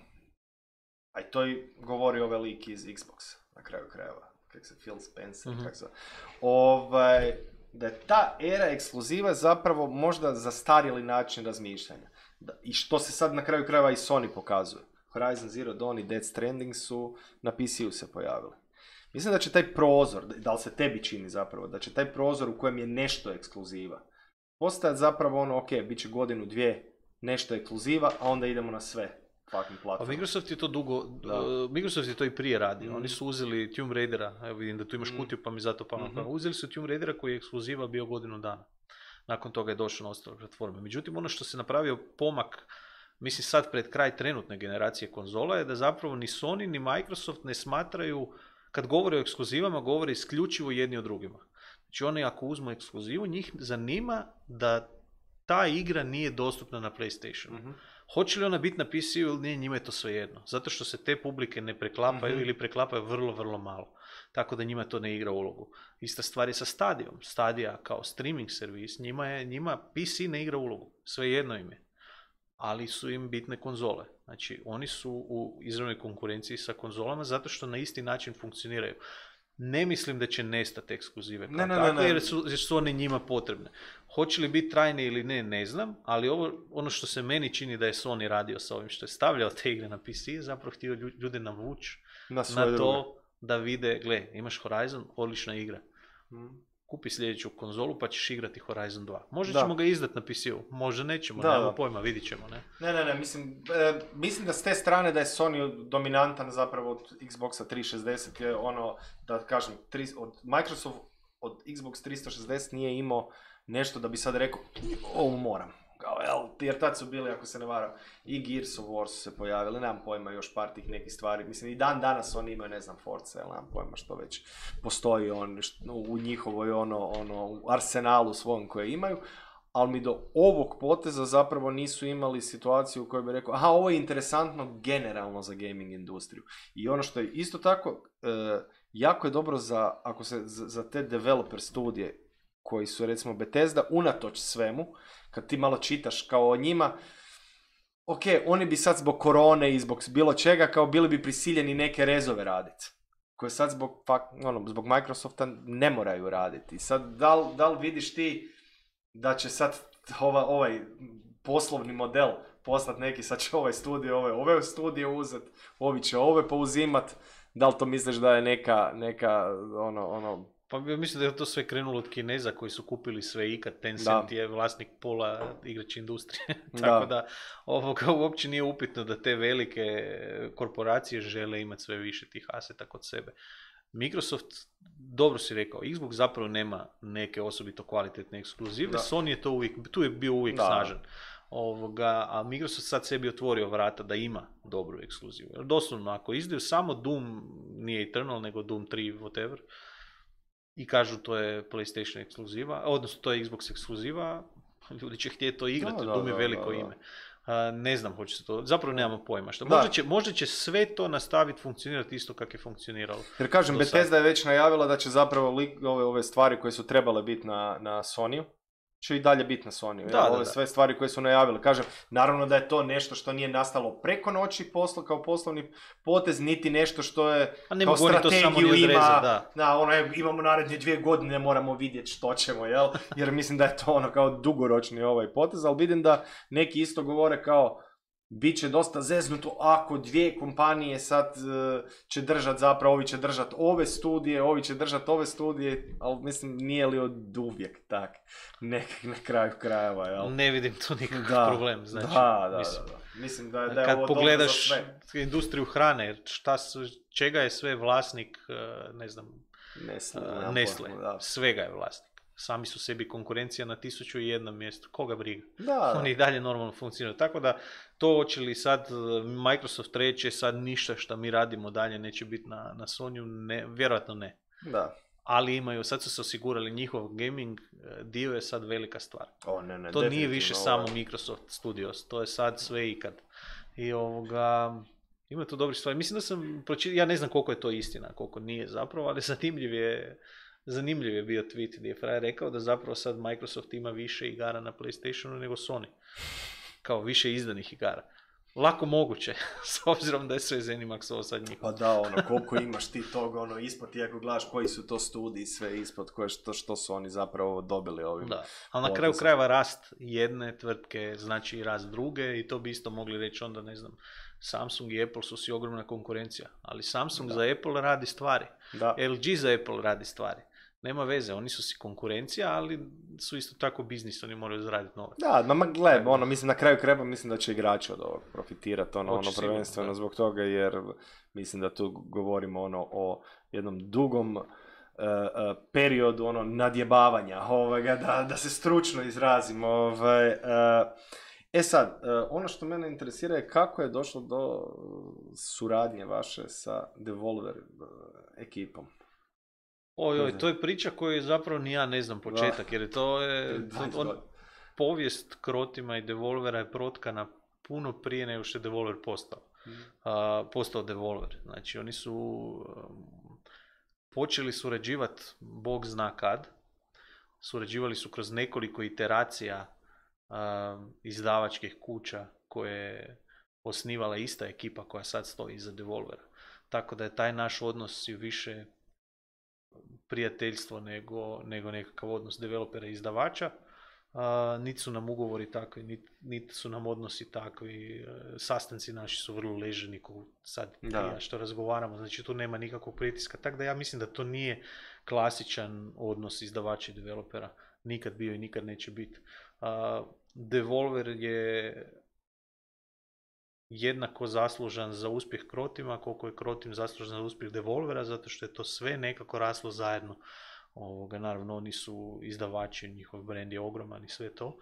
a i to i govori ovaj lik iz Xboxa, na kraju krajeva, kak se Phil Spencer, Mhm. kak se, ovaj, da je ta era ekskluziva zapravo možda zastarjeli način razmišljanja. Da, i što se sad na kraju krajeva i Sony pokazuje. Horizon Zero Dawn i Death Stranding su na P C-u se pojavili. Mislim da će taj prozor, da li se tebi čini zapravo, da će taj prozor u kojem je nešto ekskluziva postajati zapravo ono, ok, bit će godinu, dvije, nešto ekskluziva, a onda idemo na sve fucking Pa platforme. Microsoft je to dugo, Da. uh, Microsoft je to i prije radio. Mhm. Oni su uzeli Tomb Raidera, evo vidim da tu imaš Mhm. kutiju pa mi zato palo na Mhm. pamet. Uzeli su Tomb Raidera koji je ekskluziva bio godinu dana. Nakon toga je došao na ostale platforme. Međutim, ono što se napravio pomak, mislim sad pred kraj trenutne generacije konzola, je da zapravo ni Sony ni Microsoft ne smatraju, kad govore o ekskluzivama, govore isključivo jedni o drugima. Znači oni ako uzmu ekskluzivu, njih zanima da ta igra nije dostupna na PlayStationu. Mhm. Hoće li ona biti na P C-u ili nije, njima je to svejedno. Zato što se te publike ne preklapaju Mhm. ili preklapaju vrlo, vrlo malo. Tako da njima to ne igra ulogu. Ista stvar je sa Stadijom. Stadia kao streaming servis, njima, je, njima P C ne igra ulogu. Svejedno im je. Ali su im bitne konzole. Znači, oni su u izravnoj konkurenciji sa konzolama zato što na isti način funkcioniraju. Ne mislim da će nestati ekskluzive kao Ne, ne, ne, takve, ne. jer su, jer su one njima potrebne. Hoće li biti trajne ili ne, ne znam, ali ovo, ono što se meni čini da je Sony radio sa ovim što je stavljao te igre na P C, je zapravo htio lju- ljude navući Na svoje na druge. to da vide, gle, imaš Horizon, odlična igra. Mhm. Kupi sljedeću konzolu pa ćeš igrati Horizon dva. Možda Da. ćemo ga izdati na P C-u, možda nećemo, Da, nemamo da. pojma, vidit ćemo, ne? Ne, ne, ne, mislim, e, mislim da s te strane da je Sony dominantan zapravo od Xboxa tristo šezdeset, je ono, da kažem, tri, od Microsoft od Xbox tristo šezdeset nije imao nešto da bi sad rekao, ovo moram. kao, jel, jer tad su bili, ako se ne varam, i Gears of War su se pojavili, nemam pojma još par tih nekih stvari, mislim i dan danas oni imaju, ne znam, Forza, jel, nemam pojma što već postoji on, u njihovoj ono, ono, u arsenalu svom koje imaju, ali mi do ovog poteza zapravo nisu imali situaciju u kojoj bi rekao, aha, ovo je interesantno generalno za gaming industriju. I ono što je isto tako, e, jako je dobro za, ako se, za, za te developer studije, koji su recimo Bethesda, unatoč svemu, kad ti malo čitaš kao o njima, ok, oni bi sad zbog korone i zbog bilo čega, kao bili bi prisiljeni neke rezove raditi, koje sad zbog, ono, zbog Microsofta ne moraju raditi. Sad, da li, da li vidiš ti da će sad ova, ovaj poslovni model postati neki, sad će ovaj studio, ove, ove studije uzet, ovi će ove pouzimat, da li to misliš da je neka, neka ono, ono... Pa mislim da je to sve krenulo od Kineza koji su kupili sve ikad, Tencent da. je vlasnik pola igračke industrije, tako da, da ovoga uopće nije upitno da te velike korporacije žele imati sve više tih aseta kod sebe. Microsoft, dobro si rekao, Xbox zapravo nema neke osobito kvalitetne ekskluzive, da. Sony je to uvijek, tu je bio uvijek da. snažan. Ovoga, a Microsoft sad sebi otvorio vrata da ima dobru ekskluzivu. Jer doslovno, ako izdaju samo Doom, nije Eternal, nego Doom tri, whatever, i kažu to je PlayStation ekskluziva, odnosno to je Xbox ekskluziva, ljudi će htjeti to igrati, da, da, Doom je veliko da, da, da. ime. Uh, ne znam, hoće se to, zapravo nemamo pojma. Što, možda, će, možda će sve to nastaviti funkcionirati isto kako je funkcioniralo. Jer kažem, Bethesda je već najavila da će zapravo li, ove, ove stvari koje su trebale biti na, na Sonyu, će i dalje biti na Sonyu. Da, ja, ove da, sve da. stvari koje su najavili. Kažem, naravno da je to nešto što nije nastalo preko noći posla, kao poslovni potez, niti nešto što je kao strategiju ima. Da. Da, ono, imamo naredne dvije godine, moramo vidjeti što ćemo, jel? Jer mislim da je to ono kao dugoročni ovaj potez, ali vidim da neki isto govore kao bit će dosta zeznuto ako dvije kompanije sad uh, će držati zapravo, ovi će držati ove studije, ovi će držati ove studije, ali mislim nije li od uvijek tak, nekak na kraju krajeva, jel? Ne vidim tu nikakav da, problem, znači. Da, da, mislim, da, da. Mislim da je, da je kad ovo pogledaš dobro za sve. Industriju hrane, šta su, čega je sve vlasnik, ne znam, Nestle, uh, Nestle. Svega je vlasnik. Sami su sebi konkurencija na tisuću i jednom mjestu. Koga briga? Da, Oni i dalje normalno funkcioniraju. Tako da to hoće li sad Microsoft reći sad ništa što mi radimo dalje neće biti na, na Sonyu, ne, vjerojatno ne. Da. Ali imaju, sad su se osigurali njihov gaming dio je sad velika stvar. O, ne, ne, to nije više ovo... samo Microsoft Studios, to je sad sve ikad. I ovoga... Ima tu dobri stvari. Mislim da sam pročitao, ja ne znam koliko je to istina, koliko nije zapravo, ali zanimljiv je Zanimljiv je bio tweet gdje je frajer rekao da zapravo sad Microsoft ima više igara na PlayStationu nego Sony. Kao više izdanih igara. Lako moguće, s obzirom da je sve ZeniMax ovo sad njihov. Pa da, ono, koliko imaš ti toga, ono, ispod ti ako gledaš koji su to studiji, sve ispod, koje što, što su oni zapravo dobili ovim. Da, ali na kraju krajeva rast jedne tvrtke znači i rast druge i to bi isto mogli reći onda, ne znam, Samsung i Apple su si ogromna konkurencija, ali Samsung da. za Apple radi stvari, da. L G za Apple radi stvari. Nema veze, oni su si konkurencija, ali su isto tako biznis, oni moraju zaraditi novac. Da, ma gle, ono, mislim, na kraju kreba mislim da će igrači od ovog profitirati, ono, ono prvenstveno da. zbog toga, jer mislim da tu govorimo ono o jednom dugom uh, uh, periodu, ono, nadjebavanja, ovoga, da, da se stručno izrazimo, ovaj, uh, E sad, uh, ono što mene interesira je kako je došlo do suradnje vaše sa Devolver uh, ekipom. Oj, oj, to je priča koju zapravo ni ja ne znam početak, jer to je to, on, povijest Crotima i Devolvera je protkana puno prije nego što je Devolver postao, mm. uh, postao Devolver. Znači, oni su um, počeli surađivati, Bog zna kad, surađivali su kroz nekoliko iteracija uh, izdavačkih kuća koje je osnivala ista ekipa koja sad stoji iza Devolvera. Tako da je taj naš odnos i više prijateljstvo nego, nego nekakav odnos developera i izdavača. Uh, niti su nam ugovori takvi, niti, niti su nam odnosi takvi. Uh, sastanci naši su vrlo leženi, ko sad ja što razgovaramo, znači tu nema nikakvog pritiska. Tako da ja mislim da to nije klasičan odnos izdavača i developera. Nikad bio i nikad neće biti. Uh, Devolver je jednako zaslužan za uspjeh Crotima, koliko je Crotim zaslužan za uspjeh Devolvera, zato što je to sve nekako raslo zajedno. Ovoga, naravno, oni su izdavači, njihov brand je ogroman i sve to.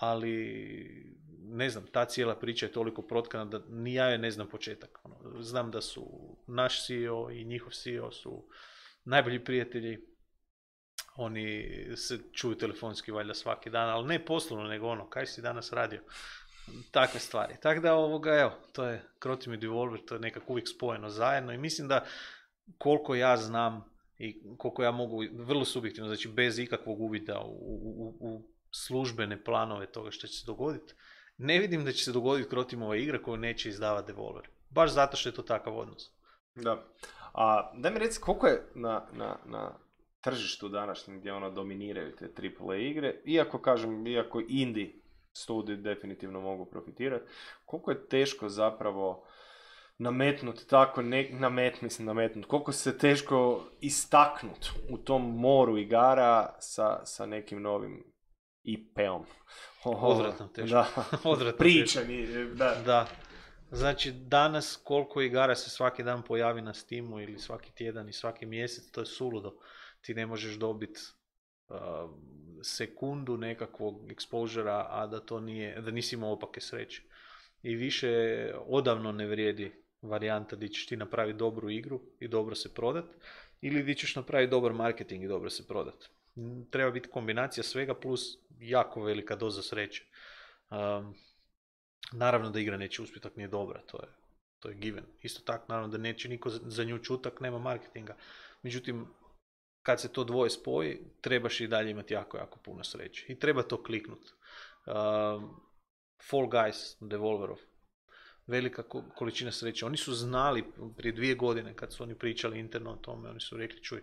ali ne znam, ta cijela priča je toliko protkana da ni ja je ne znam početak. Ono, znam da su naš C E O i njihov C E O su najbolji prijatelji, oni se čuju telefonski valjda svaki dan, ali ne poslovno, nego ono, kaj si danas radio? Takve stvari. Tako da ovoga, evo, to je Croteam i Devolver, to je nekako uvijek spojeno zajedno i mislim da koliko ja znam i koliko ja mogu, vrlo subjektivno, znači bez ikakvog uvida u, u, u službene planove toga što će se dogoditi, ne vidim da će se dogoditi Croteamova igra koju neće izdavati Devolver. Baš zato što je to takav odnos. Da. A daj mi reci, koliko je na, na, na tržištu današnjem gdje ono dominiraju te triple A igre, iako kažem, iako indie studiji definitivno mogu profitirati, koliko je teško zapravo nametnuti tako, ne, namet, mislim nametnuti, koliko se teško istaknuti u tom moru igara sa, sa nekim novim I P-om. Odvratno teško. Da, Odvratno pričani, da. Da. Znači, danas koliko igara se svaki dan pojavi na Steamu ili svaki tjedan i svaki mjesec, to je suludo. Ti ne možeš dobiti uh, sekundu nekakvog exposura, a da to nije, da nisi imao opake sreće. I više odavno ne vrijedi varijanta gdje ćeš ti napraviti dobru igru i dobro se prodat, ili gdje ćeš napraviti dobar marketing i dobro se prodat. Treba biti kombinacija svega plus jako velika doza sreće. Um, naravno da igra neće uspjeti ako nije dobra, to je, to je given. Isto tako, naravno da neće niko za nju čutak, nema marketinga. Međutim, kad se to dvoje spoji, trebaš i dalje imati jako, jako puno sreće. I treba to kliknuti. Um, Fall Guys, Devolverov, velika količina sreće. Oni su znali prije dvije godine kad su oni pričali interno o tome, oni su rekli, čuj,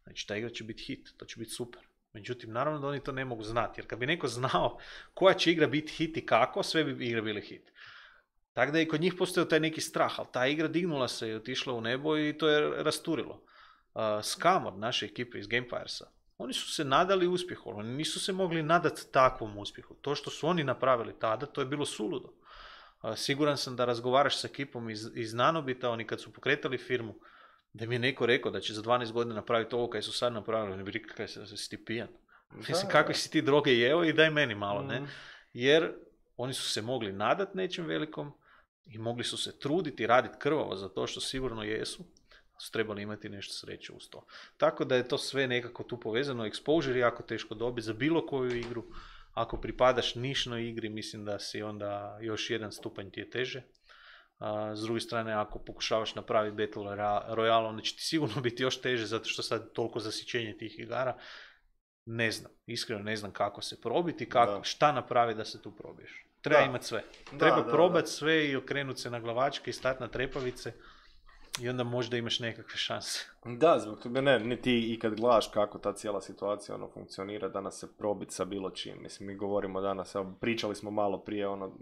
znači ta igra će biti hit, to će biti super. Međutim, naravno da oni to ne mogu znati, jer kad bi neko znao koja će igra biti hit i kako, sve bi igre bile hit. Tako da je i kod njih postojao taj neki strah, ali ta igra dignula se i otišla u nebo i to je rasturilo. Uh, Scamor, naše ekipe iz Gamefiresa, oni su se nadali uspjehu, oni nisu se mogli nadati takvom uspjehu. To što su oni napravili tada, to je bilo suludo. Uh, siguran sam da razgovaraš s ekipom iz, iz Nanobita, oni kad su pokretali firmu, da mi je neko rekao da će za dvanaest godina napraviti ovo kaj su sad napravili, oni bi rekli kaj si ti pijan. Mislim, kakve si ti droge jeo i daj meni malo, mm. ne? Jer oni su se mogli nadat nečem velikom i mogli su se truditi, raditi krvavo za to što sigurno jesu, su trebali imati nešto sreće uz to. Tako da je to sve nekako tu povezano. Exposure je jako teško dobiti za bilo koju igru. Ako pripadaš nišnoj igri, mislim da si onda još jedan stupanj ti je teže. A, s druge strane, ako pokušavaš napraviti Battle Royale, onda će ti sigurno biti još teže, zato što sad toliko zasićenje tih igara. Ne znam, iskreno ne znam kako se probiti, kako, šta napraviti da se tu probiješ. Treba imati sve. Treba da, probati da, da. sve i okrenuti se na glavačke i stati na trepavice i onda možda imaš nekakve šanse. Da, zbog toga ne, ne ti i kad gledaš kako ta cijela situacija ono funkcionira, danas se probiti sa bilo čim. Mislim, mi govorimo danas, pričali smo malo prije ono,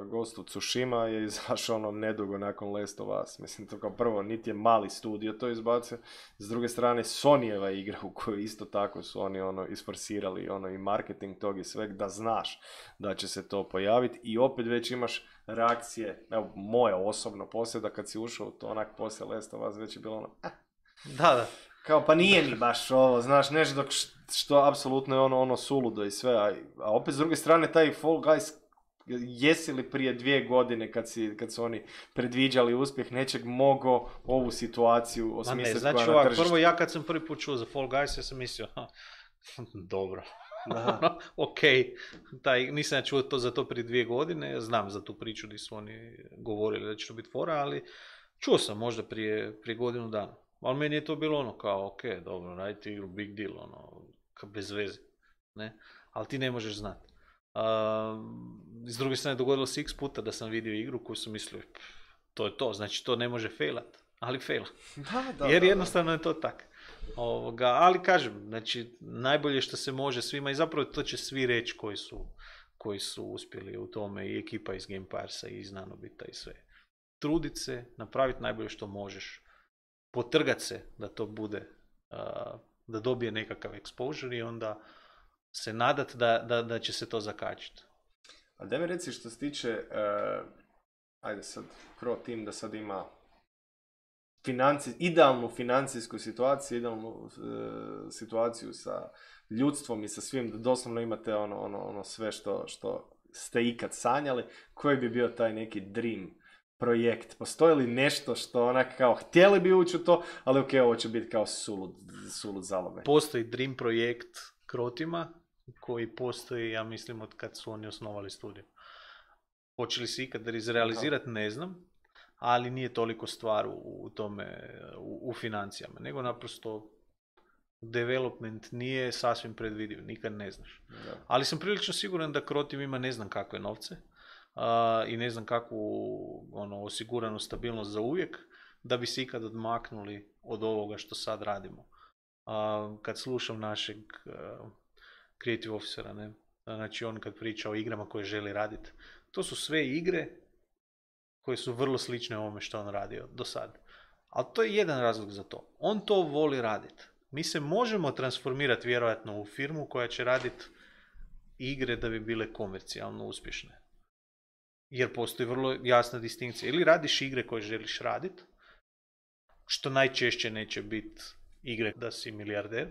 Ghost of Tsushima je izašao ono nedugo nakon Last of Us. Mislim, to kao prvo, niti je mali studio to izbacio. S druge strane, Sonyjeva igra u kojoj isto tako su oni ono isforsirali ono i marketing tog i sveg, da znaš da će se to pojaviti i opet već imaš reakcije, evo moja osobno poslije da kad si ušao u to onak poslije Last of Us već je bilo ono eh. Da, da. Kao pa nije mi baš ovo, znaš, nešto dok što apsolutno je ono, ono suludo i sve, a, a opet s druge strane taj Fall Guys, jesi li prije dvije godine kad, si, kad su oni predviđali uspjeh nečeg mogao ovu situaciju osmisliti koja znači, na tržištu? Prvo ja kad sam prvi put čuo za Fall Guys, ja sam mislio, ha, dobro, ok, taj, nisam ja čuo to za to prije dvije godine, znam za tu priču gdje su oni govorili da će to biti fora, ali čuo sam možda prije, prije godinu dana. Ali meni je to bilo ono kao, ok, dobro, radite igru, big deal, ono, bez veze, ne, ali ti ne možeš znati. Uh, s druge strane dogodilo se x puta da sam vidio igru koju sam mislio to je to, znači to ne može failat, ali faila. Da, da, jer da, jednostavno je to tak. Ovoga, ali kažem, znači najbolje što se može svima i zapravo to će svi reći koji su, koji su uspjeli u tome i ekipa iz Gamefiresa i iz Nanobita i sve. Trudit se, napraviti najbolje što možeš, potrgat se da to bude, uh, da dobije nekakav exposure i onda se nadat da, da, da će se to zakačiti. A da mi reci što se tiče, uh, ajde sad, Croteam da sad ima financi, idealnu financijsku situaciju, idealnu uh, situaciju sa ljudstvom i sa svim, da doslovno imate ono, ono, ono sve što, što ste ikad sanjali, koji bi bio taj neki dream projekt? Postoji li nešto što onak kao htjeli bi ući u to, ali ok, ovo će biti kao sulud, sulud zalome. Postoji dream projekt Crotima, koji postoji, ja mislim, od kad su oni osnovali studiju. Hoće li se ikad izrealizirati, ne znam, ali nije toliko stvar u tome, u, u financijama, nego naprosto development nije sasvim predvidiv, nikad ne znaš. Da. Ali sam prilično siguran da Crotim ima ne znam kakve novce uh, i ne znam kakvu ono, osiguranu stabilnost za uvijek, da bi se ikad odmaknuli od ovoga što sad radimo. Uh, kad slušam našeg uh, creative officera, ne? Znači on kad priča o igrama koje želi raditi, to su sve igre koje su vrlo slične ovome što on radio do sad. Ali to je jedan razlog za to. On to voli raditi. Mi se možemo transformirati vjerojatno u firmu koja će raditi igre da bi bile komercijalno uspješne. Jer postoji vrlo jasna distinkcija. Ili radiš igre koje želiš raditi, što najčešće neće biti igre da si milijarder,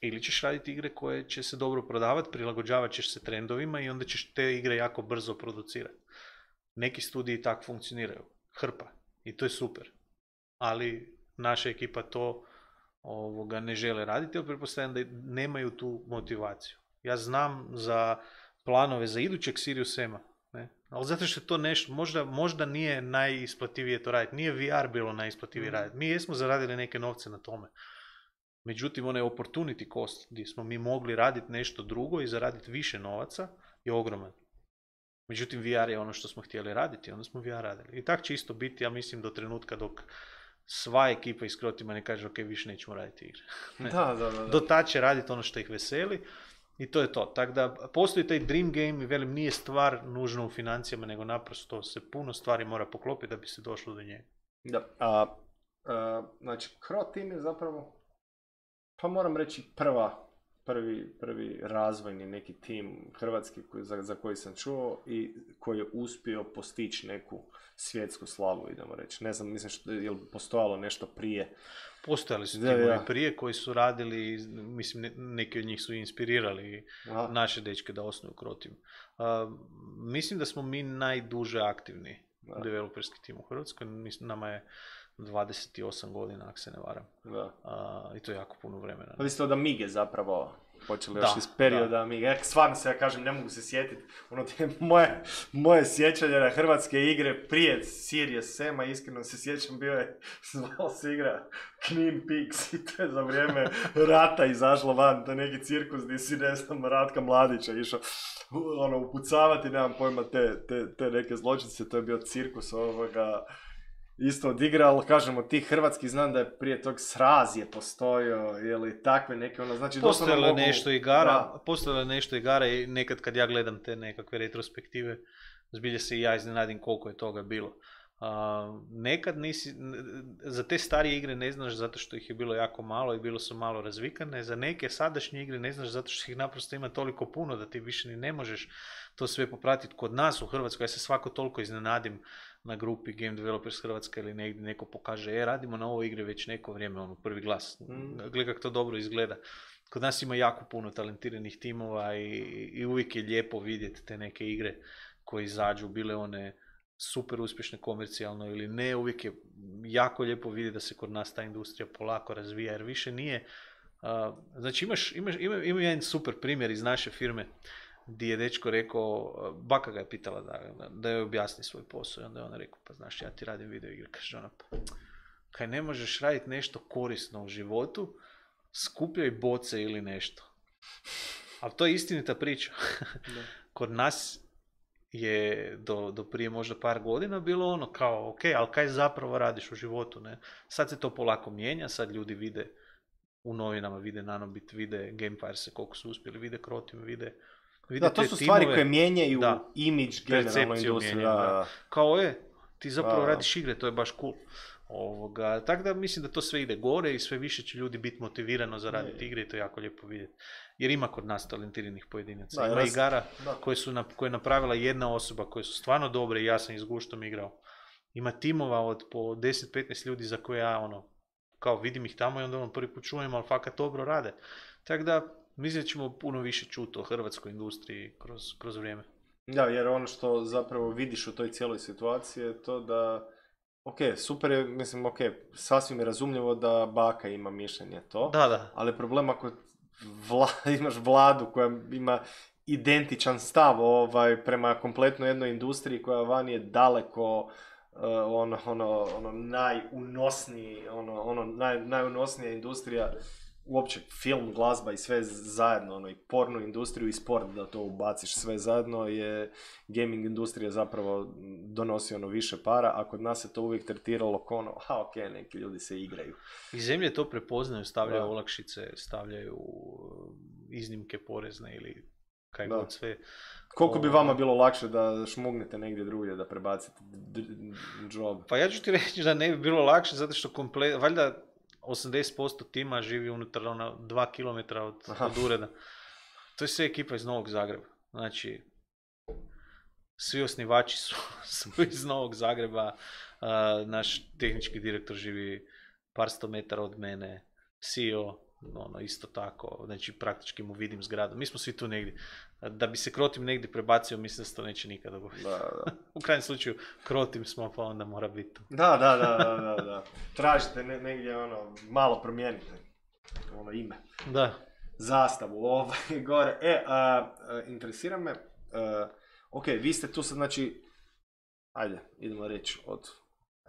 ili ćeš raditi igre koje će se dobro prodavati, prilagođavat ćeš se trendovima i onda ćeš te igre jako brzo producirati. Neki studiji tako funkcioniraju. Hrpa. I to je super. Ali naša ekipa to ovoga ne žele raditi, jer pretpostavljam da nemaju tu motivaciju. Ja znam za planove za idućeg Sirius M-a, ne? Ali zato što je to nešto, možda, možda nije najisplativije to raditi. Nije V R bilo najisplativije mm. raditi. Mi jesmo zaradili neke novce na tome. Međutim, onaj opportunity cost gdje smo mi mogli raditi nešto drugo i zaraditi više novaca je ogroman. Međutim, V R je ono što smo htjeli raditi, onda smo V R radili. I tak će isto biti, ja mislim, do trenutka dok sva ekipa iz Crotima ne kaže ok, više nećemo raditi igre. Da, da, da, da. Do tad će raditi ono što ih veseli i to je to. Tako da postoji taj dream game i velim, nije stvar nužno u financijama, nego naprosto se puno stvari mora poklopiti da bi se došlo do njega. Da, a, a, znači Crotim je zapravo, pa moram reći prva, prvi, prvi razvojni neki tim hrvatski koji, za, za koji sam čuo i koji je uspio postići neku svjetsku slavu, idemo reći. Ne znam, mislim, što, je li postojalo nešto prije? Postojali su timovi ja. prije koji su radili, mislim, neki od njih su inspirirali Aha. naše dečke da osnuju Crotim. Uh, mislim da smo mi najduže aktivni da. developerski tim u Hrvatskoj. Mislim, nama je dvadeset osam godina, ako se ne varam. Da. Uh, I to je jako puno vremena. Pa vi ste od Amige zapravo počeli još iz perioda Amige. Ja stvarno se, ja kažem, ne mogu se sjetiti. Ono te moje, moje sjećanje na hrvatske igre prije Sirius M-a, iskreno se sjećam, bio je, zvalo se igra Knin Peaks i to je za vrijeme rata izašlo van, to je neki cirkus gdje si, ne znam, Ratka Mladića išao ono, upucavati, nemam pojma, te, te, te neke zločince, to je bio cirkus ovoga, isto odigra, ali kažemo, ti hrvatski, znam da je prije tog Sraz je postojao, ili takve neke, ono, znači... Postojalo je mogu... nešto igara, postojalo je nešto igara i nekad kad ja gledam te nekakve retrospektive, zbilje se i ja iznenadim koliko je toga bilo. Uh, nekad nisi, za te starije igre ne znaš zato što ih je bilo jako malo i bilo su malo razvikane, za neke sadašnje igre ne znaš zato što ih naprosto ima toliko puno da ti više ni ne možeš to sve popratiti. Kod nas u Hrvatskoj, ja se svako toliko iznenadim na grupi Game Developers Hrvatska ili negdje neko pokaže, e, radimo na ovoj igri već neko vrijeme, ono, prvi glas, mm. gledaj kako to dobro izgleda. Kod nas ima jako puno talentiranih timova i, i uvijek je lijepo vidjeti te neke igre koje izađu, bile one super uspješne komercijalno ili ne, uvijek je jako lijepo vidjeti da se kod nas ta industrija polako razvija, jer više nije, uh, znači imaš, imaš, ima, ima jedan super primjer iz naše firme, gdje je dečko rekao, baka ga je pitala da, da joj objasni svoj posao i onda je ona rekao, pa znaš, ja ti radim video igre, kaže ona, pa kaj ne možeš raditi nešto korisno u životu, skupljaj boce ili nešto. Ali to je istinita priča. Kod nas je do, do prije možda par godina bilo ono kao, ok, ali kaj zapravo radiš u životu, ne? Sad se to polako mijenja, sad ljudi vide u novinama, vide Nanobit, vide Gamefire-se koliko su uspjeli, vide Crotim, vide... Da, to su stvari timove, koje mijenjaju da, imidž generalno industriju. Da. Kao je, ti zapravo da. radiš igre, to je baš cool. Ovoga, tako da mislim da to sve ide gore i sve više će ljudi biti motivirano za raditi igre i to je jako lijepo vidjeti. Jer ima kod nas talentiranih pojedinaca. Da, ima raz... igara koje, su na, koje je napravila jedna osoba, koje su stvarno dobre i ja sam ih s guštom igrao. ima timova od po deset do petnaest ljudi za koje ja ono, kao vidim ih tamo i onda ono prvi put čujem, ali fakat dobro rade. Tako da, mislim da ćemo puno više čuti o hrvatskoj industriji kroz, kroz vrijeme. Da, jer ono što zapravo vidiš u toj cijeloj situaciji je to da, ok, super je, mislim, ok, sasvim je razumljivo da baka ima mišljenje to, Da, da. ali problem ako vla, imaš vladu koja ima identičan stav ovaj, prema kompletno jednoj industriji koja van je daleko uh, ono, ono, ono najunosniji, ono, ono naj, najunosnija industrija, uopće film, glazba i sve zajedno, ono, i pornu industriju i sport, da to ubaciš sve zajedno, je gaming industrija zapravo donosi ono više para, a kod nas se to uvijek tretiralo kao ono, a ok, neki ljudi se igraju. I zemlje to prepoznaju, stavljaju da. olakšice, stavljaju iznimke porezne ili kaj god sve. Koliko bi vama bilo lakše da šmugnete negdje drugdje, da prebacite job? Pa ja ću ti reći da ne bi bilo lakše, zato što komplet, valjda osamdeset posto tima živi unutar ona dva kilometra od, od ureda. To je sve ekipa iz Novog Zagreba. Znači, svi osnivači su, su iz Novog Zagreba. Uh, naš tehnički direktor živi par sto metara od mene. C E O, ono, isto tako. Znači, praktički mu vidim zgradu. Mi smo svi tu negdje. Da bi se Krotim negdje prebacio, mislim da se to neće nikad dogoditi. Da, da. U krajnjem slučaju, Krotim smo, pa onda mora biti tu. Da, da, da, da, da, da. Tražite ne, negdje, ono, malo promijenite, ono, ime. Da. Zastavu, ovaj, gore. E, a, a, interesira me, a, ok, vi ste tu sad, znači, ajde, idemo reći od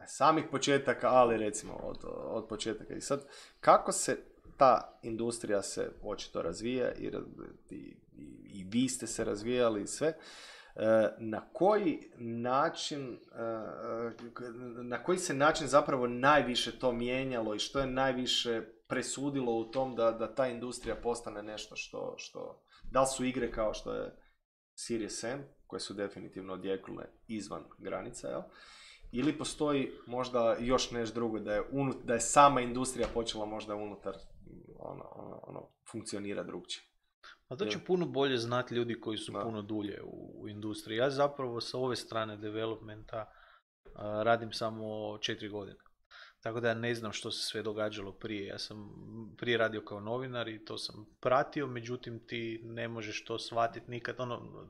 samih početaka, ali recimo od, od početaka. I sad, kako se ta industrija se očito razvija i, i, i vi ste se razvijali i sve, na koji način, na koji se način zapravo najviše to mijenjalo i što je najviše presudilo u tom da, da ta industrija postane nešto što, što, da li su igre kao što je Serious Sam, koje su definitivno odjeknule izvan granica, jel? Ili postoji možda još nešto drugo, da je, unut, da je sama industrija počela možda unutar ono, ono, ono funkcionira drugčije. A to će puno bolje znati ljudi koji su da. puno dulje u, u industriji. Ja zapravo sa ove strane developmenta uh, radim samo četiri godine. Tako da ja ne znam što se sve događalo prije. Ja sam prije radio kao novinar i to sam pratio, međutim ti ne možeš to shvatiti nikad. Ono,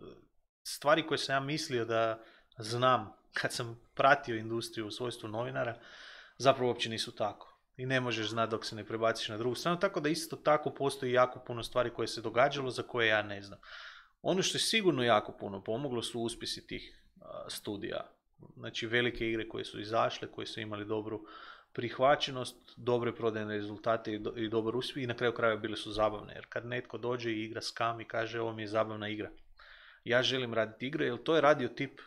stvari koje sam ja mislio da znam kad sam pratio industriju u svojstvu novinara, zapravo uopće nisu tako. I ne možeš znati dok se ne prebaciš na drugu stranu, tako da isto tako postoji jako puno stvari koje se događalo za koje ja ne znam. Ono što je sigurno jako puno pomoglo su uspjesi tih uh, studija. Znači velike igre koje su izašle, koje su imali dobru prihvaćenost, dobre prodajne rezultate i, do, i dobar uspjeh i na kraju krajeva bile su zabavne. Jer kad netko dođe i igra skam i kaže ovo mi je zabavna igra. Ja želim raditi igre, jer to je radio tip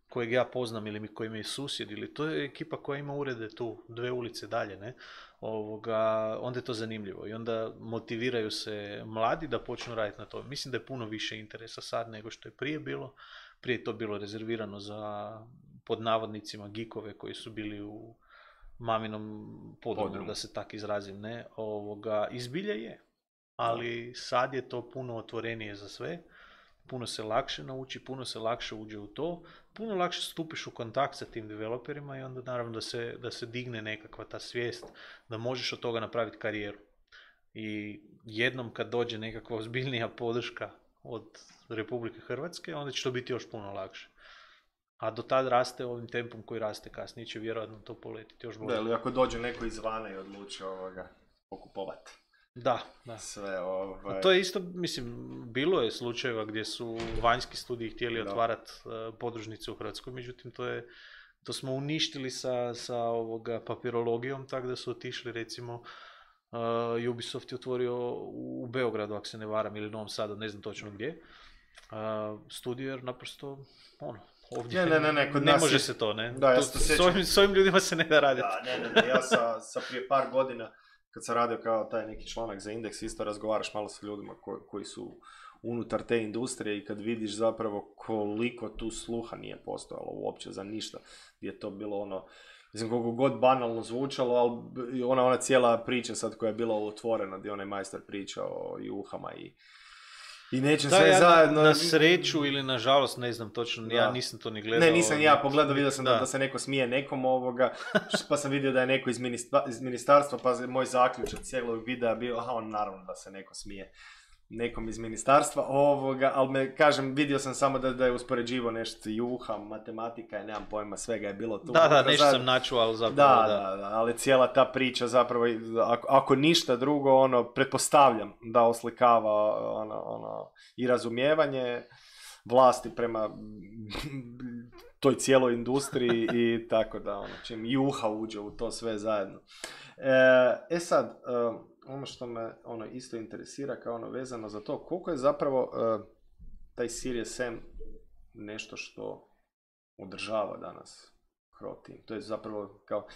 kojeg ja poznam ili mi koji mi je susjed, ili to je ekipa koja ima urede tu, dve ulice dalje, ne? Ovoga, onda je to zanimljivo i onda motiviraju se mladi da počnu raditi na to. Mislim da je puno više interesa sad nego što je prije bilo. Prije je to bilo rezervirano za, pod navodnicima, geekove koji su bili u maminom podrumu, da se tak izrazim, ne? Ovoga, izbilje je, ali sad je to puno otvorenije za sve. Puno se lakše nauči, puno se lakše uđe u to, puno lakše stupiš u kontakt sa tim developerima i onda naravno da se, da se digne nekakva ta svijest da možeš od toga napraviti karijeru. I jednom kad dođe nekakva ozbiljnija podrška od Republike Hrvatske, onda će to biti još puno lakše. A do tad raste ovim tempom koji raste kasnije, će vjerojatno to poletiti još bolje. Da, ili ako dođe neko izvana i odluči ovoga pokupovati. Da, da. Sve ovaj... To je isto, mislim, bilo je slučajeva gdje su vanjski studiji htjeli da. otvarati uh, podružnice u Hrvatskoj, međutim to je, to smo uništili sa, sa ovoga papirologijom, tako da su otišli, recimo, uh, Ubisoft je otvorio u Beogradu, ako se ne varam, ili Novom Sadu, ne znam točno gdje, uh, studio jer naprosto, ono, ovdje ne, ne, ne, ne, kod ne nas može je... se to, ne? Da, ja to, s, ovim, s ovim ljudima se ne da raditi. Da, ne, ne, ne, ja sa, sa prije par godina kad sam radio kao taj neki članak za Indeks, isto razgovaraš malo sa ljudima koji, koji su unutar te industrije i kad vidiš zapravo koliko tu sluha nije postojalo uopće za ništa, gdje je to bilo ono, mislim koliko god banalno zvučalo, ali ona, ona cijela priča sad koja je bila otvorena, gdje onaj majstor pričao i uhama i I neće Da, sve ja zajedno... na sreću ili na žalost, ne znam točno, Da. ja nisam to ni gledao. Ne, nisam ja pogledao, vidio sam da, Da. da se neko smije nekom ovoga, pa sam vidio da je neko iz, ministra, iz ministarstva, pa moj zaključak cijelog videa bio, aha, on naravno da se neko smije nekom iz ministarstva ovoga, ali me, kažem, vidio sam samo da, da je uspoređivo nešto, juha, matematika, nemam pojma, svega je bilo tu. Da, da, nešto sam načuo, ali zapravo da, da. da, da, ali cijela ta priča zapravo, ako, ako ništa drugo, ono, pretpostavljam da oslikava ono, ono, i razumijevanje vlasti prema toj cijeloj industriji i tako da, ono, čim juha uđe u to sve zajedno. E, e sad, ono što me ono isto interesira kao ono vezano za to, koliko je zapravo uh, taj Serious M nešto što održava danas Croteam. To je zapravo kao,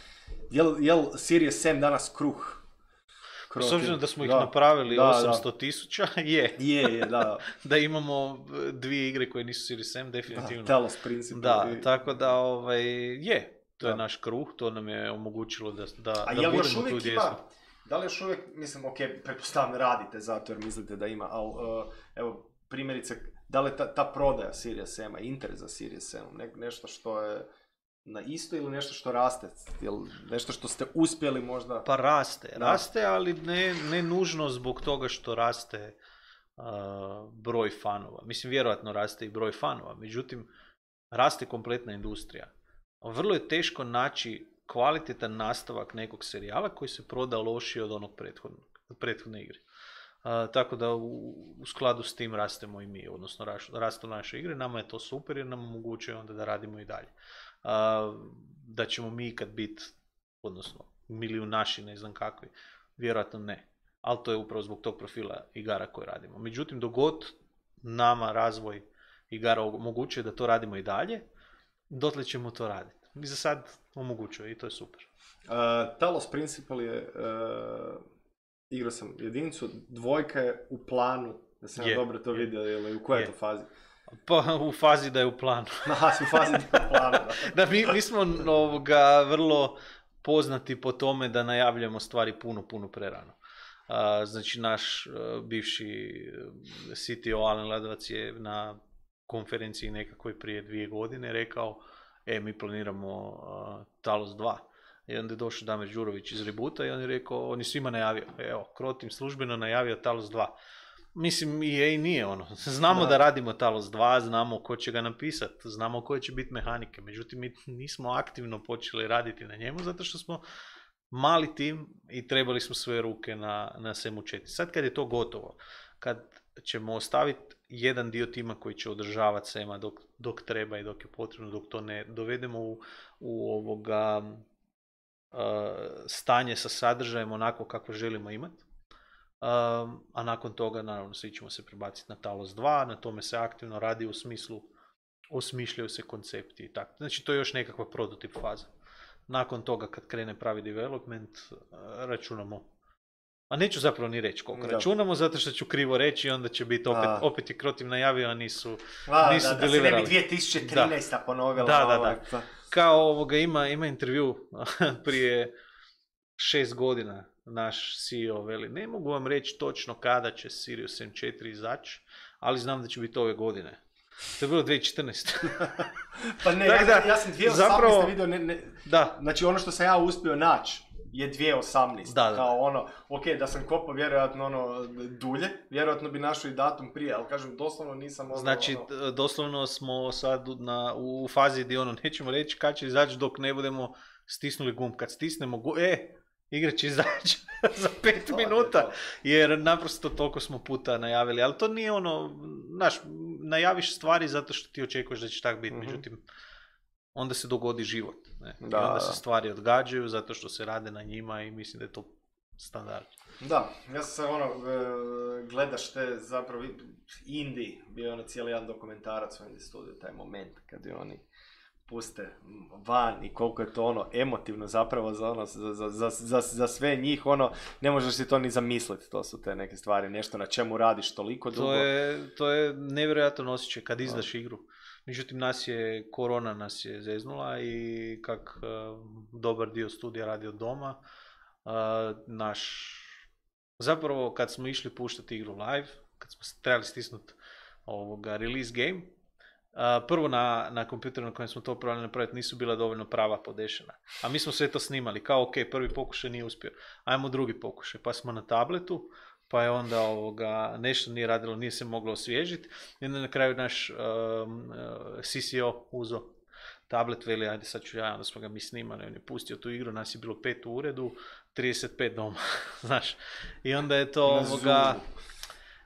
jel, jel Serious M danas kruh? S obzirom da smo ih da, napravili da, osamsto tisuća, je. Je, je, da. Da imamo dvije igre koje nisu Serious M, definitivno. Da, Talos Principle. Da, tako da, ovaj, je. To da. je naš kruh, to nam je omogućilo da, da, A da jel budemo još uvijek tu gdje ima, smo. da li još uvijek, mislim, ok, pretpostavljam radite zato jer mislite da ima, ali uh, evo, primjerice, da li je ta, ta prodaja Serious M-a, interes za Serious M-om, ne, nešto što je na isto ili nešto što raste? Jel nešto što ste uspjeli možda? Pa raste, Da. raste, ali ne, ne nužno zbog toga što raste uh, broj fanova. Mislim, vjerojatno raste i broj fanova, međutim, raste kompletna industrija. Vrlo je teško naći kvalitetan nastavak nekog serijala koji se proda lošije od onog prethodnog, prethodne igre. Uh, tako da u, u skladu s tim rastemo i mi, odnosno rastu naše igre. Nama je to super jer nam omogućuje onda da radimo i dalje. Uh, da ćemo mi kad biti, odnosno milijunaši, ne znam kakvi, vjerojatno ne. Ali to je upravo zbog tog profila igara koje radimo. Međutim, dok god nama razvoj igara omogućuje da to radimo i dalje, dotle ćemo to raditi. I za sad omogućuje i to je super. Uh, Talos Principle je, uh, igrao sam jedinicu, dvojka je u planu, da sam ja dobro to vidio, ili u kojoj je to fazi? Pa u fazi da je u planu. Aha, u fazi da je u planu, da. Da, mi, mi smo ovoga vrlo poznati po tome da najavljujemo stvari puno, puno prerano. Uh, znači, naš uh, bivši C T O Alen Ladovac je na konferenciji nekakvoj prije dvije godine rekao, e, mi planiramo uh, Talos dva. I onda je došao Damir Đurović iz Rebuta i on je rekao, on je svima najavio, evo, Croteam službeno najavio Talos dva. Mislim, i E A nije ono. Znamo da. da radimo Talos dva, znamo ko će ga napisati, znamo koje će biti mehanike, međutim mi nismo aktivno počeli raditi na njemu zato što smo mali tim i trebali smo svoje ruke na, na svemu četiri. Sad kad je to gotovo, kad ćemo ostaviti jedan dio tima koji će održavati Sema dok, dok treba i dok je potrebno, dok to ne dovedemo u, u ovoga uh, stanje sa sadržajem onako kako želimo imati. Um, a nakon toga, naravno, svi ćemo se prebaciti na Talos dva, na tome se aktivno radi u smislu, osmišljaju se koncepti i tako. Znači, to je još nekakva prototip faza. Nakon toga, kad krene pravi development, računamo, a neću zapravo ni reći koliko da. računamo, zato što ću krivo reći i onda će biti opet, opet je Croteam najavio, a nisu, a, nisu da, da deliverali. Da se ne bi dvije tisuće trinaesta da. ponovila. Da, da, ovaj, da. Kao ovoga, ima, ima intervju prije šest godina, naš C E O veli, ne mogu vam reći točno kada će Serious M četiri izaći, ali znam da će biti ove godine. To je bilo dvije tisuće četrnaeste. Pa ne, ja, da, ja sam dvije tisuće osamnaeste zapravo, vidio, ne, ne, da. Znači ono što sam ja uspio naći je dvije tisuće osamnaeste. Da, da. Kao ono, ok, da sam kopao vjerojatno ono dulje, vjerojatno bi našao i datum prije, ali kažem, doslovno nisam ono... Znači, ono... doslovno smo sad na, u fazi gdje ono, nećemo reći kad će izaći dok ne budemo stisnuli gumb. Kad stisnemo gumb, e, igra će izaći za pet to, minuta, to. Jer naprosto toliko smo puta najavili, ali to nije ono, znaš, najaviš stvari zato što ti očekuješ da će tak biti, mm-hmm. međutim, onda se dogodi život, ne? Da, i onda da. se stvari odgađaju zato što se rade na njima i mislim da je to standard. Da, ja sam ono, gledaš te zapravo, Indie, bio je ono cijeli jedan dokumentarac u Indie Studio, taj moment kad je oni puste van i koliko je to ono emotivno zapravo za, ono, za, za, za, za sve njih, ono, ne možeš si to ni zamisliti, to su te neke stvari, nešto na čemu radiš toliko dugo. To je, to je nevjerojatan osjećaj kad izdaš no. igru. Međutim, nas je, korona nas je zeznula i kak uh, dobar dio studija radi od doma, uh, naš, zapravo kad smo išli puštati igru live, kad smo trebali stisnuti ovoga release game, Uh, prvo na, na kompjuteru na kojem smo to probali napraviti nisu bila dovoljno prava podešena. A mi smo sve to snimali, kao ok, prvi pokušaj nije uspio, ajmo drugi pokušaj, pa smo na tabletu, pa je onda ovoga, nešto nije radilo, nije se moglo osvježiti, i onda na kraju naš um, uh, C C O uzo tablet, veli, ajde sad ću ja, onda smo ga mi snimali, on je pustio tu igru, nas je bilo pet u uredu, trideset pet doma, znaš, i onda je to ovoga...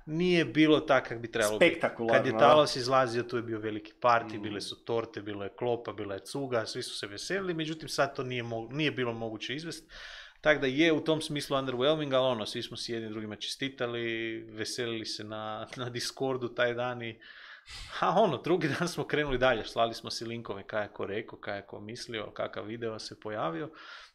Nije bilo tako kako bi trebalo biti. Kad je Talos izlazio, tu je bio veliki party, mm. bile su torte, bilo je klopa, bila je cuga, svi su se veselili, međutim sad to nije, mo- nije bilo moguće izvesti. Tako da je u tom smislu underwhelming, ali ono, svi smo si jedni drugima čestitali, veselili se na, na Discordu taj dan i a ono, drugi dan smo krenuli dalje, slali smo si linkove kaj je ko rekao, kaj je ko mislio, kakav video se pojavio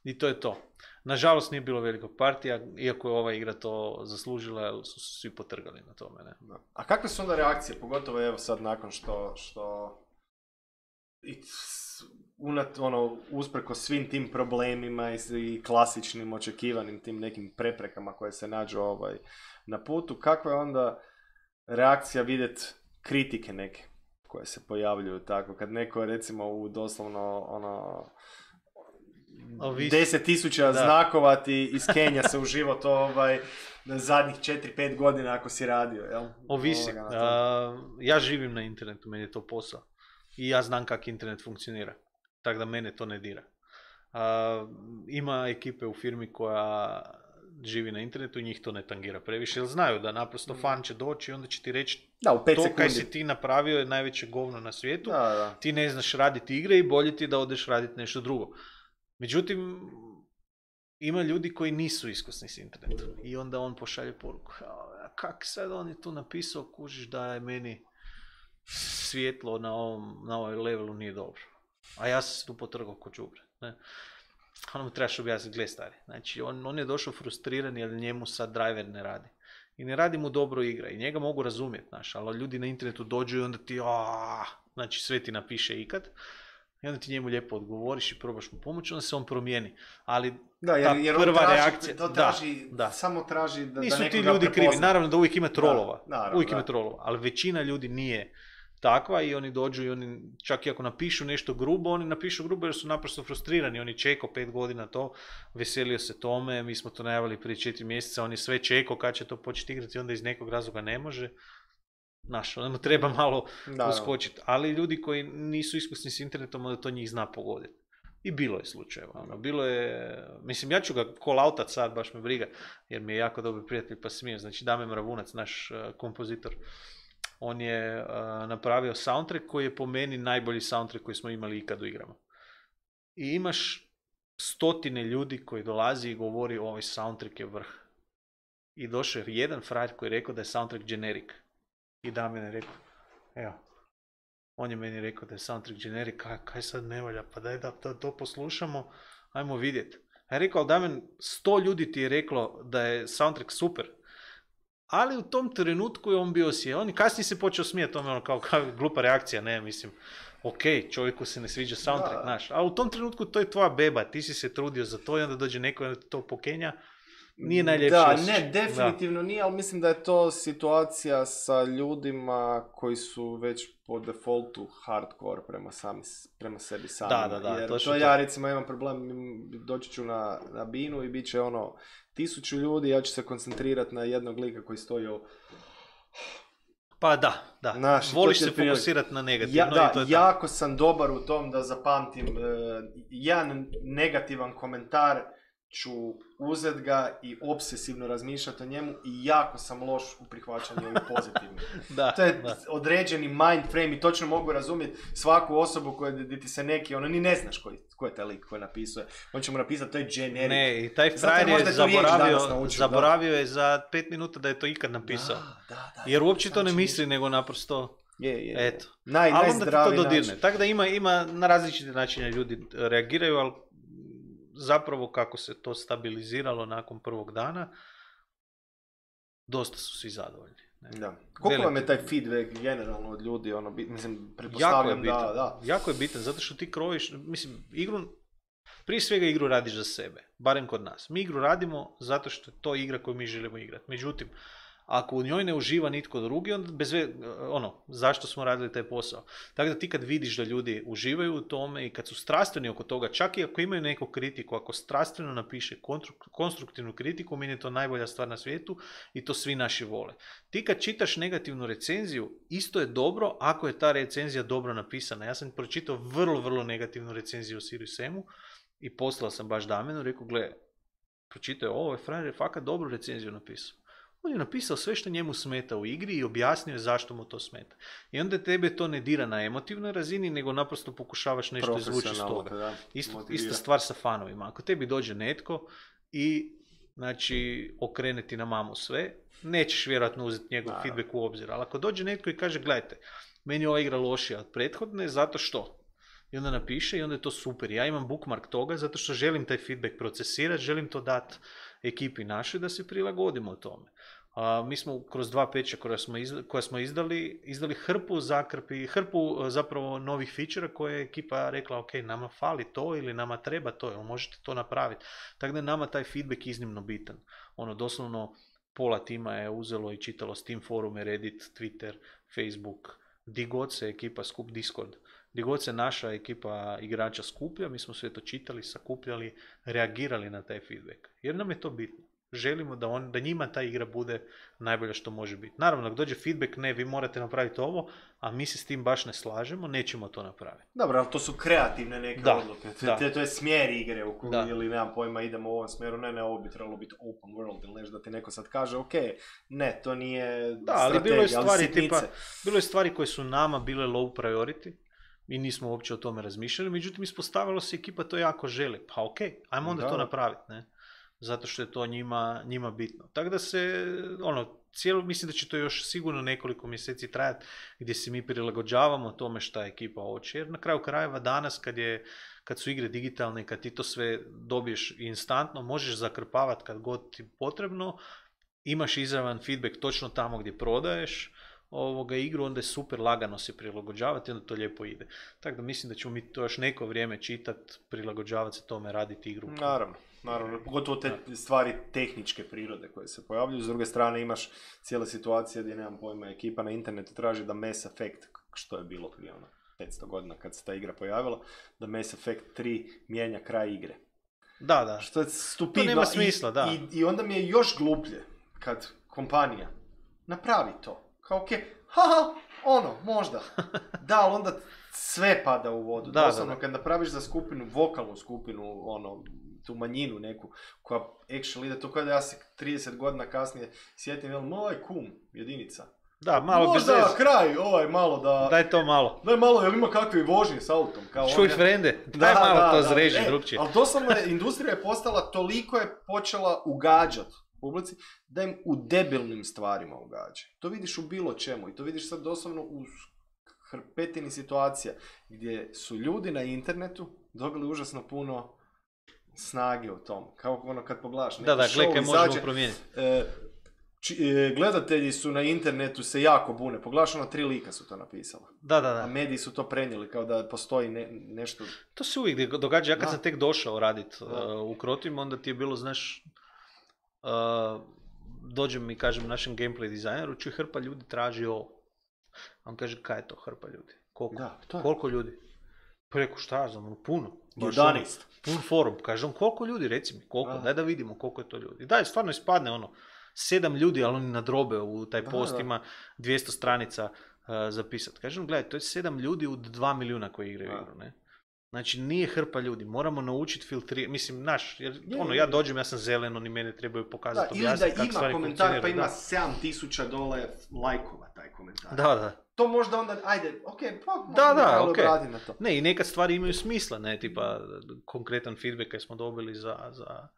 i to je to. Nažalost nije bilo velikog partija, iako je ova igra to zaslužila, jer su svi potrgali na tome. Ne? A kakve su onda reakcije, pogotovo evo sad nakon što, što unat, ono, uspreko svim tim problemima i, i klasičnim očekivanim tim nekim preprekama koje se nađu ovaj, na putu, kakva je onda reakcija vidjeti kritike neke koje se pojavljuju tako, kad neko recimo u doslovno ono deset tisuća znakova ti iz Kenja se u život ovaj, zadnjih četiri pet godina ako si radio, jel? Ovisi. Uh, ja živim na internetu, meni je to posao. I ja znam kako internet funkcionira. Tako da mene to ne dira. Uh, ima ekipe u firmi koja živi na internetu i njih to ne tangira previše, jer znaju da naprosto fan će doći i onda će ti reći da, u pet to sekundi. kaj si ti napravio je najveće govno na svijetu, da, da. Ti ne znaš raditi igre i bolje ti da odeš raditi nešto drugo. Međutim, ima ljudi koji nisu iskusni s internetom i onda on pošalje poruku, kak sad on je tu napisao, kužiš da je meni svjetlo na ovom, na ovom levelu nije dobro, a ja sam se tu potrgao ko đubre, ne. Ono mu trebaš objasniti, gle stari. Znači, on, on je došao frustriran jer njemu sad driver ne radi. I ne radi mu dobro igra. I njega mogu razumjeti, znaš, ali ljudi na internetu dođu i onda ti, aaa, znači sve ti napiše ikad. I onda ti njemu lijepo odgovoriš i probaš mu pomoći, onda se on promijeni. Ali da, jer, ta jer prva traži, reakcija... To traži, da, da. samo traži da, nisu da ti ljudi prepozna. krivi. Naravno da uvijek ima trolova. Da, naravno, uvijek da. ima trolova. Ali većina ljudi nije takva i oni dođu i oni, čak i ako napišu nešto grubo, oni napišu grubo jer su naprosto frustrirani. Oni čekao pet godina to, veselio se tome, mi smo to najavili prije četiri mjeseca, on je sve čekao kad će to početi igrati, onda iz nekog razloga ne može. Znaš, onda mu treba malo uskočiti. Ali ljudi koji nisu iskusni s internetom, onda to njih zna pogoditi. I bilo je slučajeva. Ono. Bilo je, mislim, ja ću ga call outat sad, baš me briga, jer mi je jako dobar prijatelj pa smije. Znači, Dame Mravunac, naš uh, kompozitor, on je uh, napravio soundtrack koji je po meni najbolji soundtrack koji smo imali ikad u igrama. I imaš stotine ljudi koji dolazi i govori ovaj soundtrack je vrh. I došao je jedan frajer koji je rekao da je soundtrack generic. I Damjan je rekao, evo, on je meni rekao da je soundtrack generic, kaj, kaj sad ne valja, pa daj da, da to poslušamo, ajmo vidjeti. A je rekao, ali Damjan, sto ljudi ti je reklo da je soundtrack super. Ali u tom trenutku je on bio sjedan. On i kasnije se počeo smijati tome, ono kao, kao glupa reakcija, ne, mislim, ok, čovjeku se ne sviđa soundtrack, znaš, a u tom trenutku to je tvoja beba, ti si se trudio za to i onda dođe neko i onda to pokenja, nije najljepše. Da, ne, definitivno da. Nije, ali mislim da je to situacija sa ljudima koji su već po defaultu hardcore prema, sami, prema sebi sami. Da, da, da. Jer to, to ja recimo imam problem, doći ću na, na binu i bit će ono tisuću ljudi, ja ću se koncentrirati na jednog lika koji stoji o... Pa da, da. Naš, voliš se fokusirati na negativno. Ja, da, i to je jako tak. sam dobar u tom da zapamtim uh, jedan negativan komentar, ću uzet ga i obsesivno razmišljati o njemu i jako sam loš u prihvaćanju ovih pozitivnih. da, to je da. određeni mind frame i točno mogu razumjeti svaku osobu koja ti se neki, ono ni ne znaš koji, ko je taj lik koji napisuje. On će mu napisati, to je generic. Ne, i taj frajer je zaboravio, naučio, zaboravio je za pet minuta da je to ikad napisao. Da, da, da, jer uopće to ne misli, nego naprosto... Je, je, je. Eto. Naj, ali onda ti to dodirne. Tako da ima, ima na različite načine ljudi reagiraju, ali zapravo kako se to stabiliziralo nakon prvog dana, dosta su svi zadovoljni. Ne? Da. Koliko Veliki... vam je taj feedback generalno od ljudi, ono, mislim, pretpostavljam da, da. Jako je bitan, zato što ti krojiš, mislim, igru, prije svega igru radiš za sebe, barem kod nas. Mi igru radimo zato što je to igra koju mi želimo igrati. Međutim, Ako u njoj ne uživa nitko drugi, onda bez ve, ono, zašto smo radili taj posao. Tako da ti kad vidiš da ljudi uživaju u tome i kad su strastveni oko toga, čak i ako imaju neku kritiku, ako strastveno napiše konstruktivnu kritiku, meni je to najbolja stvar na svijetu i to svi naši vole. Ti kad čitaš negativnu recenziju, isto je dobro ako je ta recenzija dobro napisana. Ja sam pročitao vrlo, vrlo negativnu recenziju o Sirius Samu i poslao sam baš Damenu, rekao, gle, pročitao je ovo, je frajer je fakat dobru recenziju napisao. On je napisao sve što njemu smeta u igri i objasnio je zašto mu to smeta. I onda tebe to ne dira na emotivnoj razini, nego naprosto pokušavaš nešto izvući iz toga. Da, Isto, ista stvar sa fanovima. Ako tebi dođe netko i znači okrene ti na mamu sve, nećeš vjerojatno uzeti njegov Naravno. feedback u obzir. Ali ako dođe netko i kaže, gledajte, meni je ova igra lošija od prethodne, zato što? I onda napiše i onda je to super. Ja imam bookmark toga zato što želim taj feedback procesirati, želim to dati ekipi našoj da se prilagodimo tome. A, mi smo kroz dva peča koja smo, izdali, koja smo izdali, izdali hrpu zakrpi, hrpu zapravo novih feature koje je ekipa rekla, ok, nama fali to ili nama treba to, ili možete to napraviti. Tako da je nama taj feedback iznimno bitan. Ono, doslovno pola tima je uzelo i čitalo Steam forume, Reddit, Twitter, Facebook, di god se ekipa skup, Discord. Gdje god se naša ekipa igrača skuplja, mi smo sve to čitali, sakupljali, reagirali na taj feedback. Jer nam je to bitno. Želimo da, on, da njima ta igra bude najbolja što može biti. Naravno, ako dođe feedback, ne, vi morate napraviti ovo, a mi se s tim baš ne slažemo, nećemo to napraviti. Dobro, ali to su kreativne neke da, odluke. Da. To, to je smjer igre u koju, ili nemam pojma, idemo u ovom smjeru, ne, ne, ovo bi trebalo biti open world, ili nešto da ti neko sad kaže, ok, ne, to nije da, ali strategija, bilo je stvari, ali tipa, bilo je stvari koje su nama bile low priority, mi nismo uopće o tome razmišljali, međutim ispostavilo se ekipa to jako želi. Pa ok, ajmo onda da. to napraviti, ne? Zato što je to njima, njima bitno. Tako da se, ono, cijelo, mislim da će to još sigurno nekoliko mjeseci trajati gdje se mi prilagođavamo tome šta ekipa hoće. Jer na kraju krajeva danas kad, je, kad su igre digitalne, kad ti to sve dobiješ instantno, možeš zakrpavati kad god ti potrebno, imaš izravan feedback točno tamo gdje prodaješ ovoga igru, onda je super lagano se prilagođavati, onda to lijepo ide. Tako da mislim da ćemo mi to još neko vrijeme čitati, prilagođavati se tome, raditi igru. Naravno, naravno, pogotovo te stvari tehničke prirode koje se pojavljuju. S druge strane imaš cijela situacija gdje, nemam pojma, ekipa na internetu traži da Mass Effect, što je bilo prije ono petsto godina kad se ta igra pojavila, da Mass Effect tri mijenja kraj igre. Da, da. Što je stupidno. To nema smisla, I, da. I, I onda mi je još gluplje kad kompanija napravi to. Kao ok, haha, ono, možda. Da, ali onda sve pada u vodu. Da, Doslovno, da, da. kad napraviš za skupinu, vokalnu skupinu, ono, tu manjinu neku, koja actually ide, to kao da ja se trideset godina kasnije sjetim, jel, moj kum, jedinica. Da, malo možda bez kraj, ovaj, malo da... Daj to malo. Daj malo, jel ima kakve vožnje s autom? Kao Čuj, on, frende, daj da, malo da, to zreži e, drugčije. Ali doslovno je, industrija je postala, toliko je počela ugađati publici, da im u debilnim stvarima ugađa. To vidiš u bilo čemu i to vidiš sad doslovno u hrpetini situacija gdje su ljudi na internetu dobili užasno puno snage u tom. Kao ono kad pogledaš neki da, da, show izađe, možemo promijeniti. E, či, e, gledatelji su na internetu se jako bune. Pogledaš, ono, tri lika su to napisala. Da, da, da. A mediji su to prenijeli kao da postoji ne, nešto... To se uvijek događa. Ja kad da. sam tek došao raditi uh, u Krotim, onda ti je bilo, znaš, Uh, dođem i kažem našem gameplay dizajneru, čuj, hrpa ljudi traži ovo. On kaže, kaj je to hrpa ljudi? Koliko? Da, to je. Koliko ljudi? Pa reku, šta znam, puno. jedanaest. Pun forum. Kažem, koliko ljudi, reci mi, koliko? Da. Daj da vidimo koliko je to ljudi. Daj, stvarno ispadne ono, sedam ljudi, ali oni nadrobe u taj da, post, da. Ima dvjesto stranica uh, zapisati. Kažem, gledaj, to je sedam ljudi od dva milijuna koji igraju igru, ne? Znači, nije hrpa ljudi, moramo naučiti filtrirati, mislim, naš, jer, je, ono, ja dođem, ja sam zelen, oni mene trebaju pokazati, objasniti kako stvari funkcioniraju. Da, ili da ima komentar, pa ima sedam tisuća dole lajkova taj komentar. Da, da. To možda onda, ajde, ok, pa da, da, okay. Na to. Ne, i nekad stvari imaju smisla, ne, tipa, konkretan feedback koji smo dobili za, za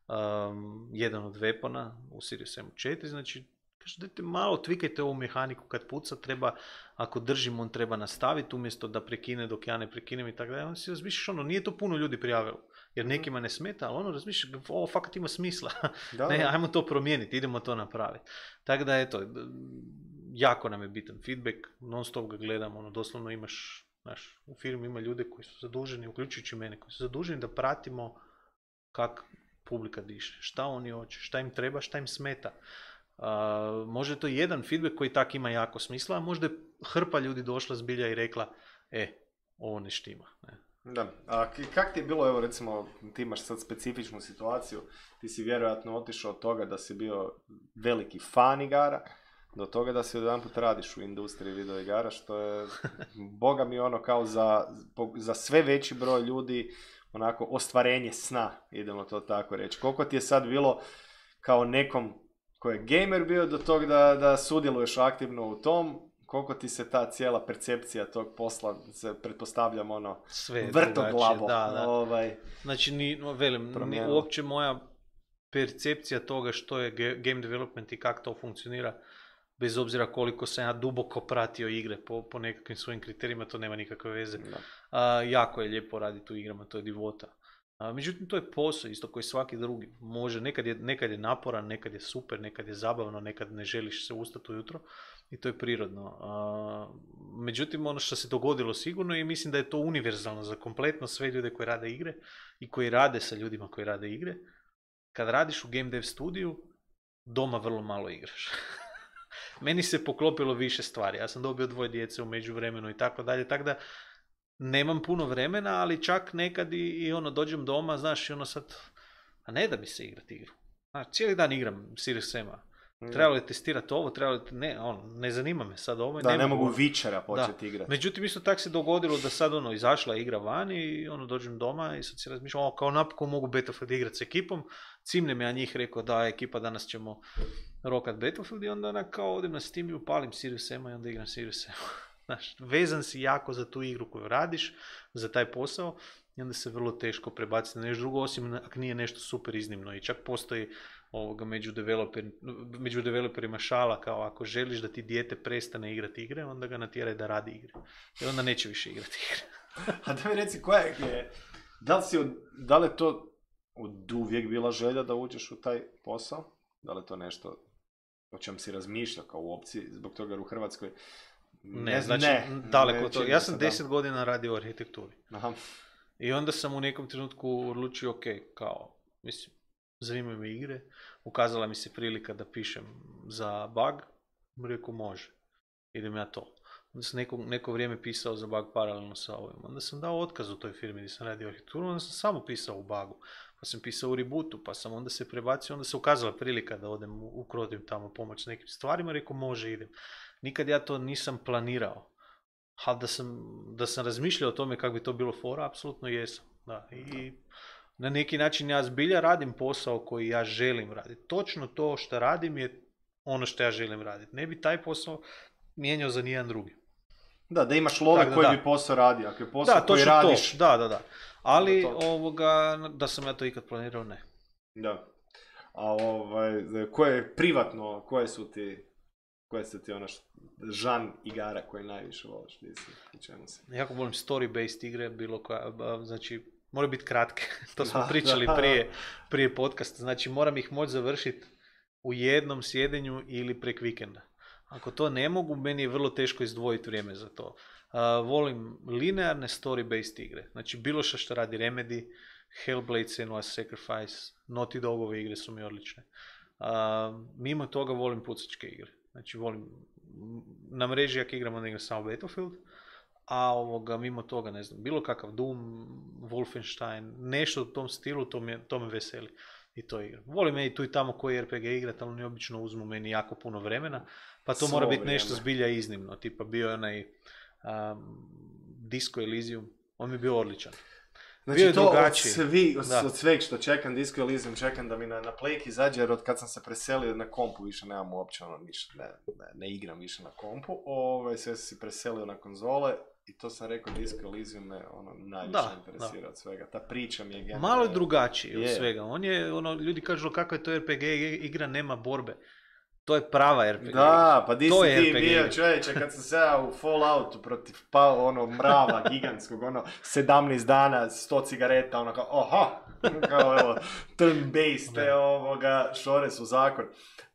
um, jedan od weapona u Sirius Samu četiri, znači, kaže, dajte malo, tvikajte ovu mehaniku kad puca, treba, ako držim, on treba nastaviti umjesto da prekine dok ja ne prekinem i tako dalje. Onda si razmišljaš, ono, nije to puno ljudi prijavilo, jer nekima ne smeta, ali ono, razmišljaš, ovo fakat ima smisla. Da, ne, ajmo to promijeniti, idemo to napraviti. Tako da, eto, jako nam je bitan feedback, non stop ga gledam, ono, doslovno imaš, znaš, u firmi ima ljude koji su zaduženi, uključujući mene, koji su zaduženi da pratimo kak publika diše, šta oni hoće, šta im treba, šta im smeta. Uh, možda je to jedan feedback koji tak ima jako smisla, a možda je hrpa ljudi došla zbilja i rekla, e, ovo ne štima. Ne. Da, a kak ti je bilo, evo recimo, ti imaš sad specifičnu situaciju, ti si vjerojatno otišao od toga da si bio veliki fan igara, do toga da si odjedanput radiš u industriji video igara, što je, boga mi ono kao za, za sve veći broj ljudi, onako, ostvarenje sna, idemo to tako reći. Koliko ti je sad bilo kao nekom koji je gamer bio do tog da, da sudjeluješ aktivno u tom, koliko ti se ta cijela percepcija tog posla, se pretpostavljam ono, vrtoglavo. Da, da. Ovaj, znači, ni, velim, ni, uopće moja percepcija toga što je game development i kako to funkcionira, bez obzira koliko sam ja duboko pratio igre po, po nekakvim svojim kriterijima, to nema nikakve veze. A, jako je lijepo raditi u igrama, to je divota. A, međutim, to je posao isto koji svaki drugi. Može, nekad je, nekad je naporan, nekad je super, nekad je zabavno, nekad ne želiš se ustati ujutro i to je prirodno. A, međutim, ono što se dogodilo sigurno i mislim da je to univerzalno za kompletno sve ljude koji rade igre i koji rade sa ljudima koji rade igre. Kad radiš u game dev studiju, doma vrlo malo igraš. Meni se poklopilo više stvari. Ja sam dobio dvoje djece u međuvremenu i tako dalje, tako da nemam puno vremena, ali čak nekad i, i ono, dođem doma, znaš, i ono sad, a ne da mi se igrati igru. Znaš, cijeli dan igram Serious Sam-a. Trebalo je testirati ovo, trebalo je, ne, ono, ne zanima me sad ovo. Da, ne, ne mogu Witchera početi igrati. Međutim, isto tako se dogodilo da sad, ono, izašla igra van i, ono, dođem doma i sad si razmišljam, o, kao napokon mogu Battlefield igrati s ekipom, cimnem ja njih, rekao, da, ekipa, danas ćemo rokat Battlefield i onda onak kao odem na Steam i upalim Serious Sam-a i onda igram Serious Sam-a. Znaš, vezan si jako za tu igru koju radiš, za taj posao i onda se vrlo teško prebaciti na nešto drugo, osim ako nije nešto super iznimno i čak postoji ovoga među, developer, među developerima šala kao ako želiš da ti dijete prestane igrati igre, onda ga natjeraj da radi igre. I onda neće više igrati igre. A da mi reci, koja je, da li, si od, da li je to od uvijek bila želja da uđeš u taj posao? Da li je to nešto o čem si razmišljao kao u opciji, zbog toga u Hrvatskoj? Ne, ne znači ne, daleko to. Ja sam deset godina radio u arhitekturi. Aha. I onda sam u nekom trenutku odlučio, ok, kao, mislim, zanimaju me igre, ukazala mi se prilika da pišem za bug, rekao može, idem ja to. Onda sam neko, neko vrijeme pisao za bug paralelno sa ovim. Onda sam dao otkaz u toj firmi gdje sam radio arhitekturu, onda sam samo pisao u bugu. Pa sam pisao u rebootu, pa sam onda se prebacio, onda se ukazala prilika da odem u, u Krodim tamo pomoć s nekim stvarima, rekao može, idem. Nikad ja to nisam planirao. Ali da sam, da sam razmišljao o tome kako bi to bilo fora, apsolutno jesam. Da. I na neki način ja zbilja radim posao koji ja želim raditi. Točno to što radim je ono što ja želim raditi. Ne bi taj posao mijenjao za nijedan drugi. Da, da imaš love koji da. bi posao radio. Ako je posao da, koji radiš... To. Da, da, da. Ali da, ovoga, da sam ja to ikad planirao, ne. Da. A ovaj, koje je privatno, koje su ti... Koje su ti ono žan igara koje najviše voliš? Jako volim story-based igre, bilo koja, znači, moraju biti kratke, to smo da, pričali da, prije, prije podcasta, znači moram ih moći završiti u jednom sjedenju ili prek vikenda. Ako to ne mogu, meni je vrlo teško izdvojiti vrijeme za to. Uh, volim linearne story-based igre, znači bilo što što radi Remedy, Hellblade, Senua's Sacrifice, Naughty Dogove igre su mi odlične. Uh, mimo toga volim pucačke igre. Znači volim, na mreži jak igram, onda igram samo Battlefield, a ovoga, mimo toga, ne znam, bilo kakav Doom, Wolfenstein, nešto u tom stilu, to me, to me veseli i to igram. Volim i tu i tamo koji er pe ge igrat, ali oni obično uzmu meni jako puno vremena, pa to Svo mora biti vrijeme. Nešto zbilja iznimno, tipa bio je onaj um, Disco Elysium, on mi je bio odličan. Znači to od, svi, od, od sveg što čekam, Disco Elysium, čekam da mi na, na Playki izađe, jer od kad sam se preselio na kompu više nemam uopće ono ništa, ne, ne, ne igram više na kompu, Ove, sve sam si preselio na konzole i to sam rekao, Disco Elysium me ono najviše da, interesira da. Od svega, ta priča mi je generalno. Malo je drugačiji od svega, on je, ono, ljudi kažu kako je to er pe ge igra, nema borbe. To je prava er pe ge. Da, pa di si ti bio čovječe kad sam se ja u Falloutu protiv pa, ono mrava gigantskog, ono sedamnaest dana, sto cigareta, ono kao, oha, kao evo, turn-based, te ovoga, šore su zakon.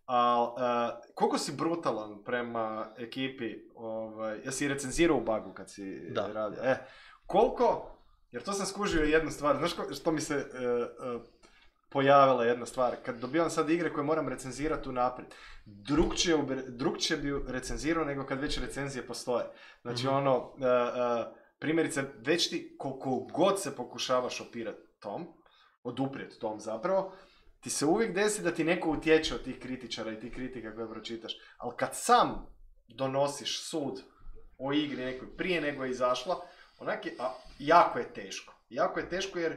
A, a, koliko si brutalan prema ekipi, ovaj, jesi recenzirao u bugu kad si da. radio? E, koliko, jer to sam skužio jednu stvar, znaš ko, što mi se... Uh, uh, pojavila jedna stvar. Kad dobivam sad igre koje moram recenzirati unaprijed, drugčije, drugčije bi recenzirao nego kad već recenzije postoje. Znači mm-hmm. ono, uh, uh, primjerice, već ti koliko god se pokušavaš opirati tom, oduprijeti tom zapravo, ti se uvijek desi da ti neko utječe od tih kritičara i tih kritika koje pročitaš. Ali kad sam donosiš sud o igri nekoj prije nego je izašla, onak je, a, jako je teško. Jako je teško jer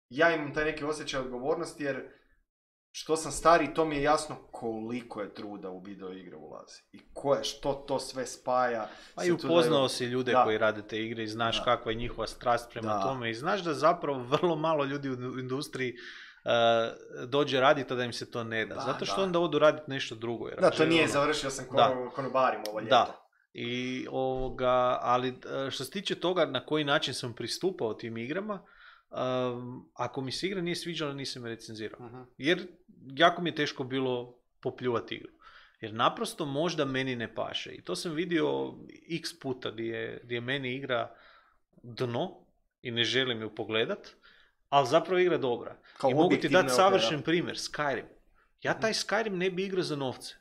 ja imam taj neki osjećaj odgovornosti jer što sam stariji, to mi je jasno koliko je truda u video igre ulazi. I koje, što to sve spaja. Pa i upoznao si ljude da. koji rade te igre i znaš da. kakva je njihova strast prema da. tome. I znaš da zapravo vrlo malo ljudi u industriji uh, dođe raditi, a da im se to ne da. da Zato što da. onda odu raditi nešto drugo. Jer da, to nije ono... završio sam konobarim ovo ljeto. Da. I ovoga, ali što se tiče toga na koji način sam pristupao tim igrama, Um, ako mi se igra nije sviđala, nisam je recenzirao. Uh-huh. Jer jako mi je teško bilo popljuvati igru. Jer naprosto možda meni ne paše. I to sam vidio x puta gdje je, gdje je meni igra dno i ne želim ju pogledat, ali zapravo igra dobra. Kao I mogu ti dati savršen okay, primjer, Skyrim. Ja taj Skyrim ne bi igrao za novce.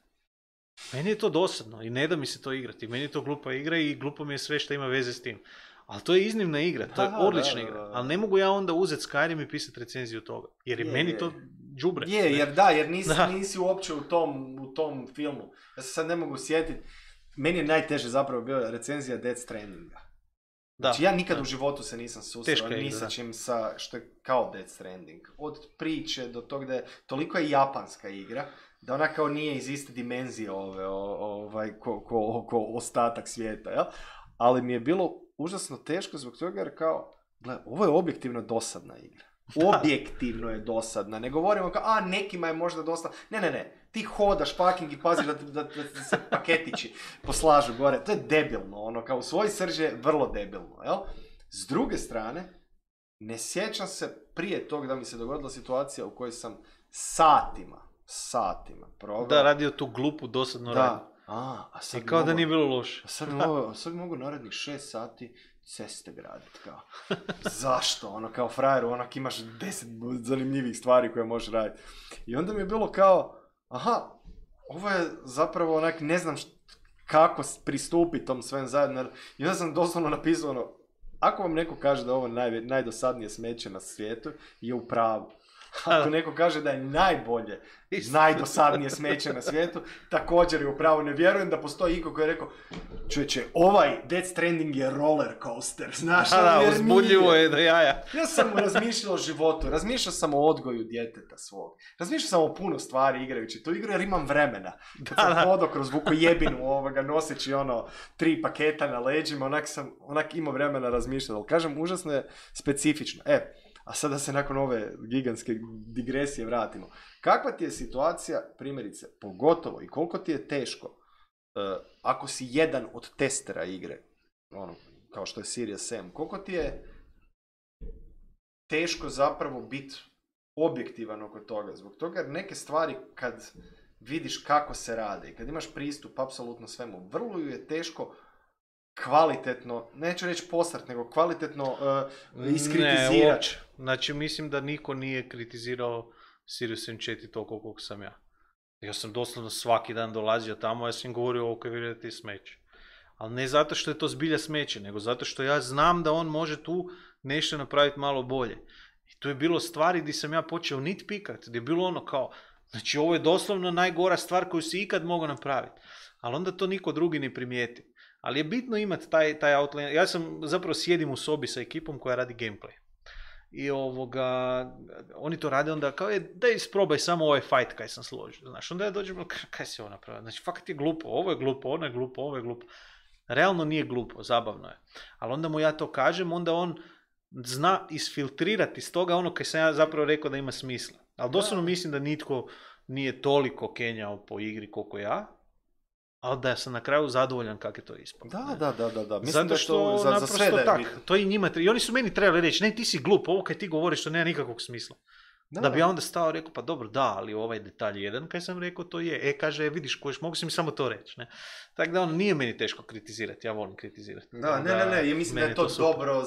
Meni je to dosadno i ne da mi se to igrati. Meni je to glupa igra i glupo mi je sve što ima veze s tim. Ali to je iznimna igra, to je Aha, odlična da, igra. Da, da. Ali ne mogu ja onda uzeti Skyrim i pisati recenziju toga. Jer je, je meni je. to džubre. Je, jer da, jer nisi, da. nisi uopće u tom, u tom filmu. Ja se sad ne mogu sjetiti. Meni je najteže zapravo bila recenzija Death Strandinga. Znači ja nikad da. u životu se nisam susreo ni sa čim sa, što je kao Death Stranding. Od priče do tog da je, toliko je japanska igra, da ona kao nije iz iste dimenzije ove, ovaj, ko, ko, ko ostatak svijeta, jel? Ali mi je bilo užasno teško zbog toga jer kao, gle, ovo je objektivno dosadna igra. Objektivno je dosadna. Ne govorimo kao, a nekima je možda dosadna. Ne, ne, ne. Ti hodaš fucking i paziš da, da, da, da se paketići poslažu gore. To je debilno. Ono, kao u svoj srži je vrlo debilno. Jel? S druge strane, ne sjećam se prije tog da mi se dogodila situacija u kojoj sam satima, satima proveo. Da, radio tu glupu, dosadnu radnju. A, a sad I kao mogu, da nije bilo loše. A sad mogu, sad mogu narednih šest sati ceste graditi, kao. Zašto? Ono, kao frajeru, onak imaš deset zanimljivih stvari koje možeš raditi. I onda mi je bilo kao, aha, ovo je zapravo onak, ne znam št, kako pristupiti tom svem zajedno. I onda sam doslovno napisao ono, ako vam neko kaže da ovo naj, najdosadnije smeće na svijetu, je u pravu. Ako neko kaže da je najbolje, najdosadnije smeće na svijetu, također je upravo. Ne vjerujem da postoji iko koji je rekao, čovječe, ovaj Death Stranding je roller coaster, znaš? Da, da, uzbudljivo je do jaja. Ja sam razmišljao o životu, razmišljao sam o odgoju djeteta svog, razmišljao sam o puno stvari igrajući tu igru jer imam vremena. Kad da, sam hodao kroz Vukojebinu ovoga, noseći ono tri paketa na leđima, onak sam, onak imao vremena razmišljati, ali kažem, užasno je specifično. E, a sada se nakon ove gigantske digresije vratimo. Kakva ti je situacija, primjerice, pogotovo i koliko ti je teško, uh, ako si jedan od testera igre, ono, kao što je Serious Sam, koliko ti je teško zapravo biti objektivan oko toga? Zbog toga jer neke stvari kad vidiš kako se rade i kad imaš pristup apsolutno svemu, vrlo je teško kvalitetno, neću reći posrat, nego kvalitetno uh, iskritizirati. Ne, znači mislim da niko nije kritizirao Serious Sam četiri toliko koliko sam ja. Ja sam doslovno svaki dan dolazio tamo, ja sam govorio ok, vidite ti smeće. Ali ne zato što je to zbilja smeće, nego zato što ja znam da on može tu nešto napraviti malo bolje. I tu je bilo stvari gdje sam ja počeo nitpikat, gdje je bilo ono kao, znači ovo je doslovno najgora stvar koju si ikad mogao napraviti. Ali onda to niko drugi ne primijeti. Ali je bitno imati taj, taj outline. Ja sam zapravo sjedim u sobi sa ekipom koja radi gameplay. I ovoga, oni to rade onda kao, je, daj isprobaj samo ovaj fight kaj sam složio. Znaš, onda ja dođem, kaj si ovo napravio? Znači, fakat je glupo, ovo je glupo, ono je glupo, ovo je glupo. Realno nije glupo, zabavno je. Ali onda mu ja to kažem, onda on zna isfiltrirati iz toga ono kaj sam ja zapravo rekao da ima smisla. Ali doslovno mislim da nitko nije toliko kenjao po igri koliko ja. Ali da sam na kraju zadovoljan kako je to ispalo. Da, da, da, da, da. Mislim zato što da to, za, za sve da je tak, to i njima treba. I oni su meni trebali reći, ne, ti si glup, ovo kaj ti govoriš, to nema nikakvog smisla. Da, da bi ja onda stao i rekao, pa dobro, da, ali ovaj detalj jedan, kaj sam rekao, to je. E, kaže, vidiš, kojiš, mogu si mi samo to reći. Ne? Tako da on nije meni teško kritizirati, ja volim kritizirati. Da, ne, ne, ne, ja mislim da je to, to dobro,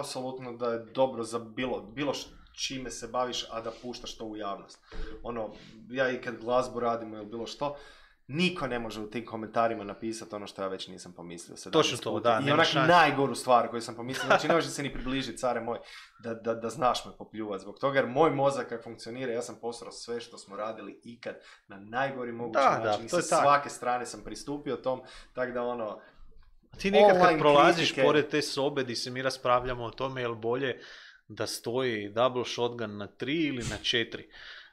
apsolutno da je dobro za bilo, bilo čime se baviš, a da puštaš to u javnost. Ono, ja i kad glazbu radimo ili bilo što, niko ne može u tim komentarima napisati ono što ja već nisam pomislio. Točno to, da. I onak najgoru stvar koju sam pomislio, znači ne može se ni približiti, care moj, da, da, da znaš me popljuvat zbog toga, jer moj mozak kako funkcionira, ja sam posrao sve što smo radili ikad na najgori mogući da, način da, i sa svake strane sam pristupio tom, tako da ono... Ti nekad kad prolaziš kritike... pored te sobe di se mi raspravljamo o tome je li bolje da stoji double shotgun na tri ili na četiri.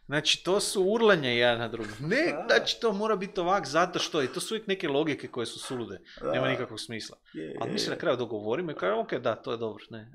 Znači, to su urlanja jedan na drugom. Ne, znači, to mora biti ovak zato što je. To su uvijek neke logike koje su sulude. Nema nikakvog smisla. Ali mi se na kraju dogovorimo i kažemo, ok, da, to je dobro. Ne.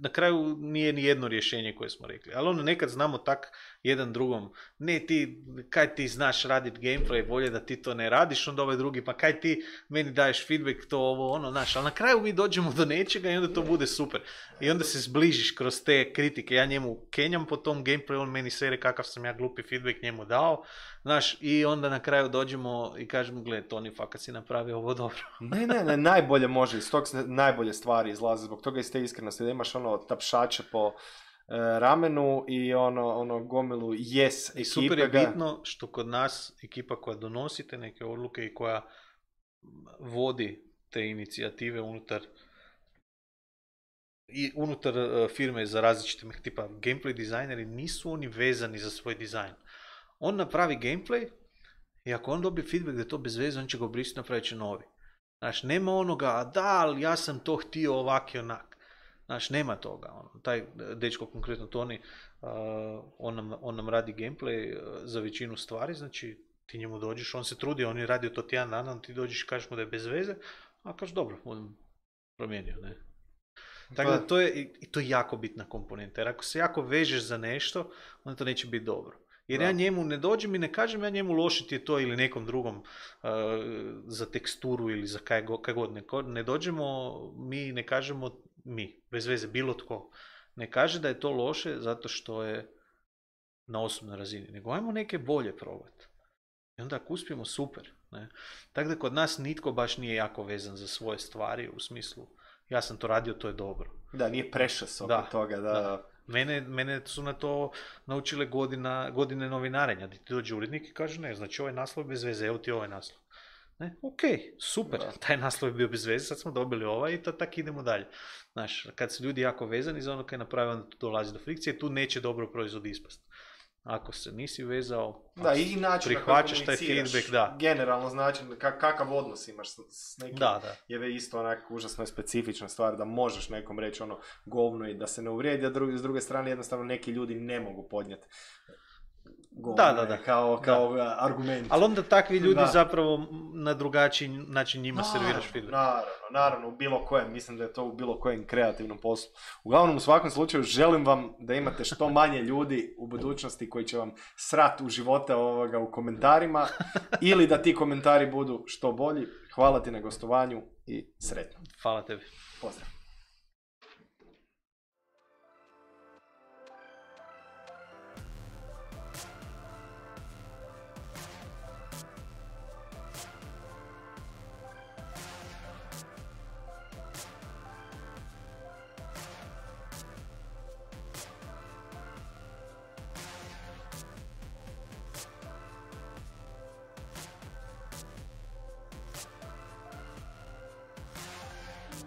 Na kraju nije ni jedno rješenje koje smo rekli. Ali ono, nekad znamo tak jedan drugom, ne ti, kaj ti znaš raditi gameplay, bolje da ti to ne radiš, onda ovaj drugi, pa kaj ti meni daješ feedback, to ovo, ono, znaš. Ali na kraju mi dođemo do nečega i onda to bude super. I onda se zbližiš kroz te kritike. Ja njemu kenjam po tom gameplay, on meni sere kakav sam ja glupi feedback njemu dao, znaš, i onda na kraju dođemo i kažemo, gled, Toni, fakat si napravio ovo dobro. ne, ne, ne, najbolje može, iz tog se najbolje stvari izlaze, zbog toga iz te iskrenosti, da imaš ono tapšače po e, ramenu i ono, ono gomilu yes ekipe. I super je bitno što kod nas ekipa koja donosi te neke odluke i koja vodi te inicijative unutar i unutar uh, firme za različite tipa gameplay dizajneri, nisu oni vezani za svoj dizajn. On napravi gameplay i ako on dobije feedback da je to bez veze, on će ga obrisiti, napravit će novi. Znaš, nema onoga, a da, ali ja sam to htio ovak i onak. Znaš, nema toga. On, taj dečko, konkretno Toni, uh, on, nam, on nam radi gameplay uh, za većinu stvari, znači ti njemu dođeš, on se trudi, on je radio to tjedan dana, ti dođeš i kažeš mu da je bez veze, a kažeš dobro, on promijenio, ne. Tako da to je, i to je jako bitna komponenta, jer ako se jako vežeš za nešto, onda to neće biti dobro. Jer da. Ja njemu ne dođem i ne kažem ja njemu loše ti je to ili nekom drugom uh, za teksturu ili za kaj, kaj god. Ne, ne dođemo, mi ne kažemo, mi, bez veze, bilo tko, ne kaže da je to loše zato što je na osobnoj razini, nego ajmo neke bolje probati. I onda ako uspijemo, super. Ne? Tako da kod nas nitko baš nije jako vezan za svoje stvari u smislu ja sam to radio, to je dobro. Da, nije prešas oko da, toga. Da. Da. Mene, mene su na to naučile godina, godine novinarenja. Da ti dođe urednik i kaže ne, znači ovaj naslov je bez veze, evo ti ovaj naslov. Ne? Ok, super, da. Taj naslov je bio bez veze, sad smo dobili ovaj i to tak idemo dalje. Znaš, kad su ljudi jako vezani za ono kaj napravi, onda tu dolazi do frikcije, tu neće dobro proizvod ispast. Ako se nisi vezao, da, i način prihvaćaš taj feedback, da. Generalno znači kakav odnos imaš s nekim, da, da. Je isto onak užasno specifična stvar da možeš nekom reći ono govno i da se ne uvrijedi, a drugi, s druge strane jednostavno neki ljudi ne mogu podnijeti govno da, da, da. kao, kao da. argument. Ali onda takvi ljudi da. Zapravo na drugačiji način njima naravno, serviraš feedback. Naravno, naravno, u bilo kojem, mislim da je to u bilo kojem kreativnom poslu. Uglavnom, u svakom slučaju, želim vam da imate što manje ljudi u budućnosti koji će vam srat u živote ovoga u komentarima ili da ti komentari budu što bolji. Hvala ti na gostovanju i sretno. Hvala tebi. Pozdrav.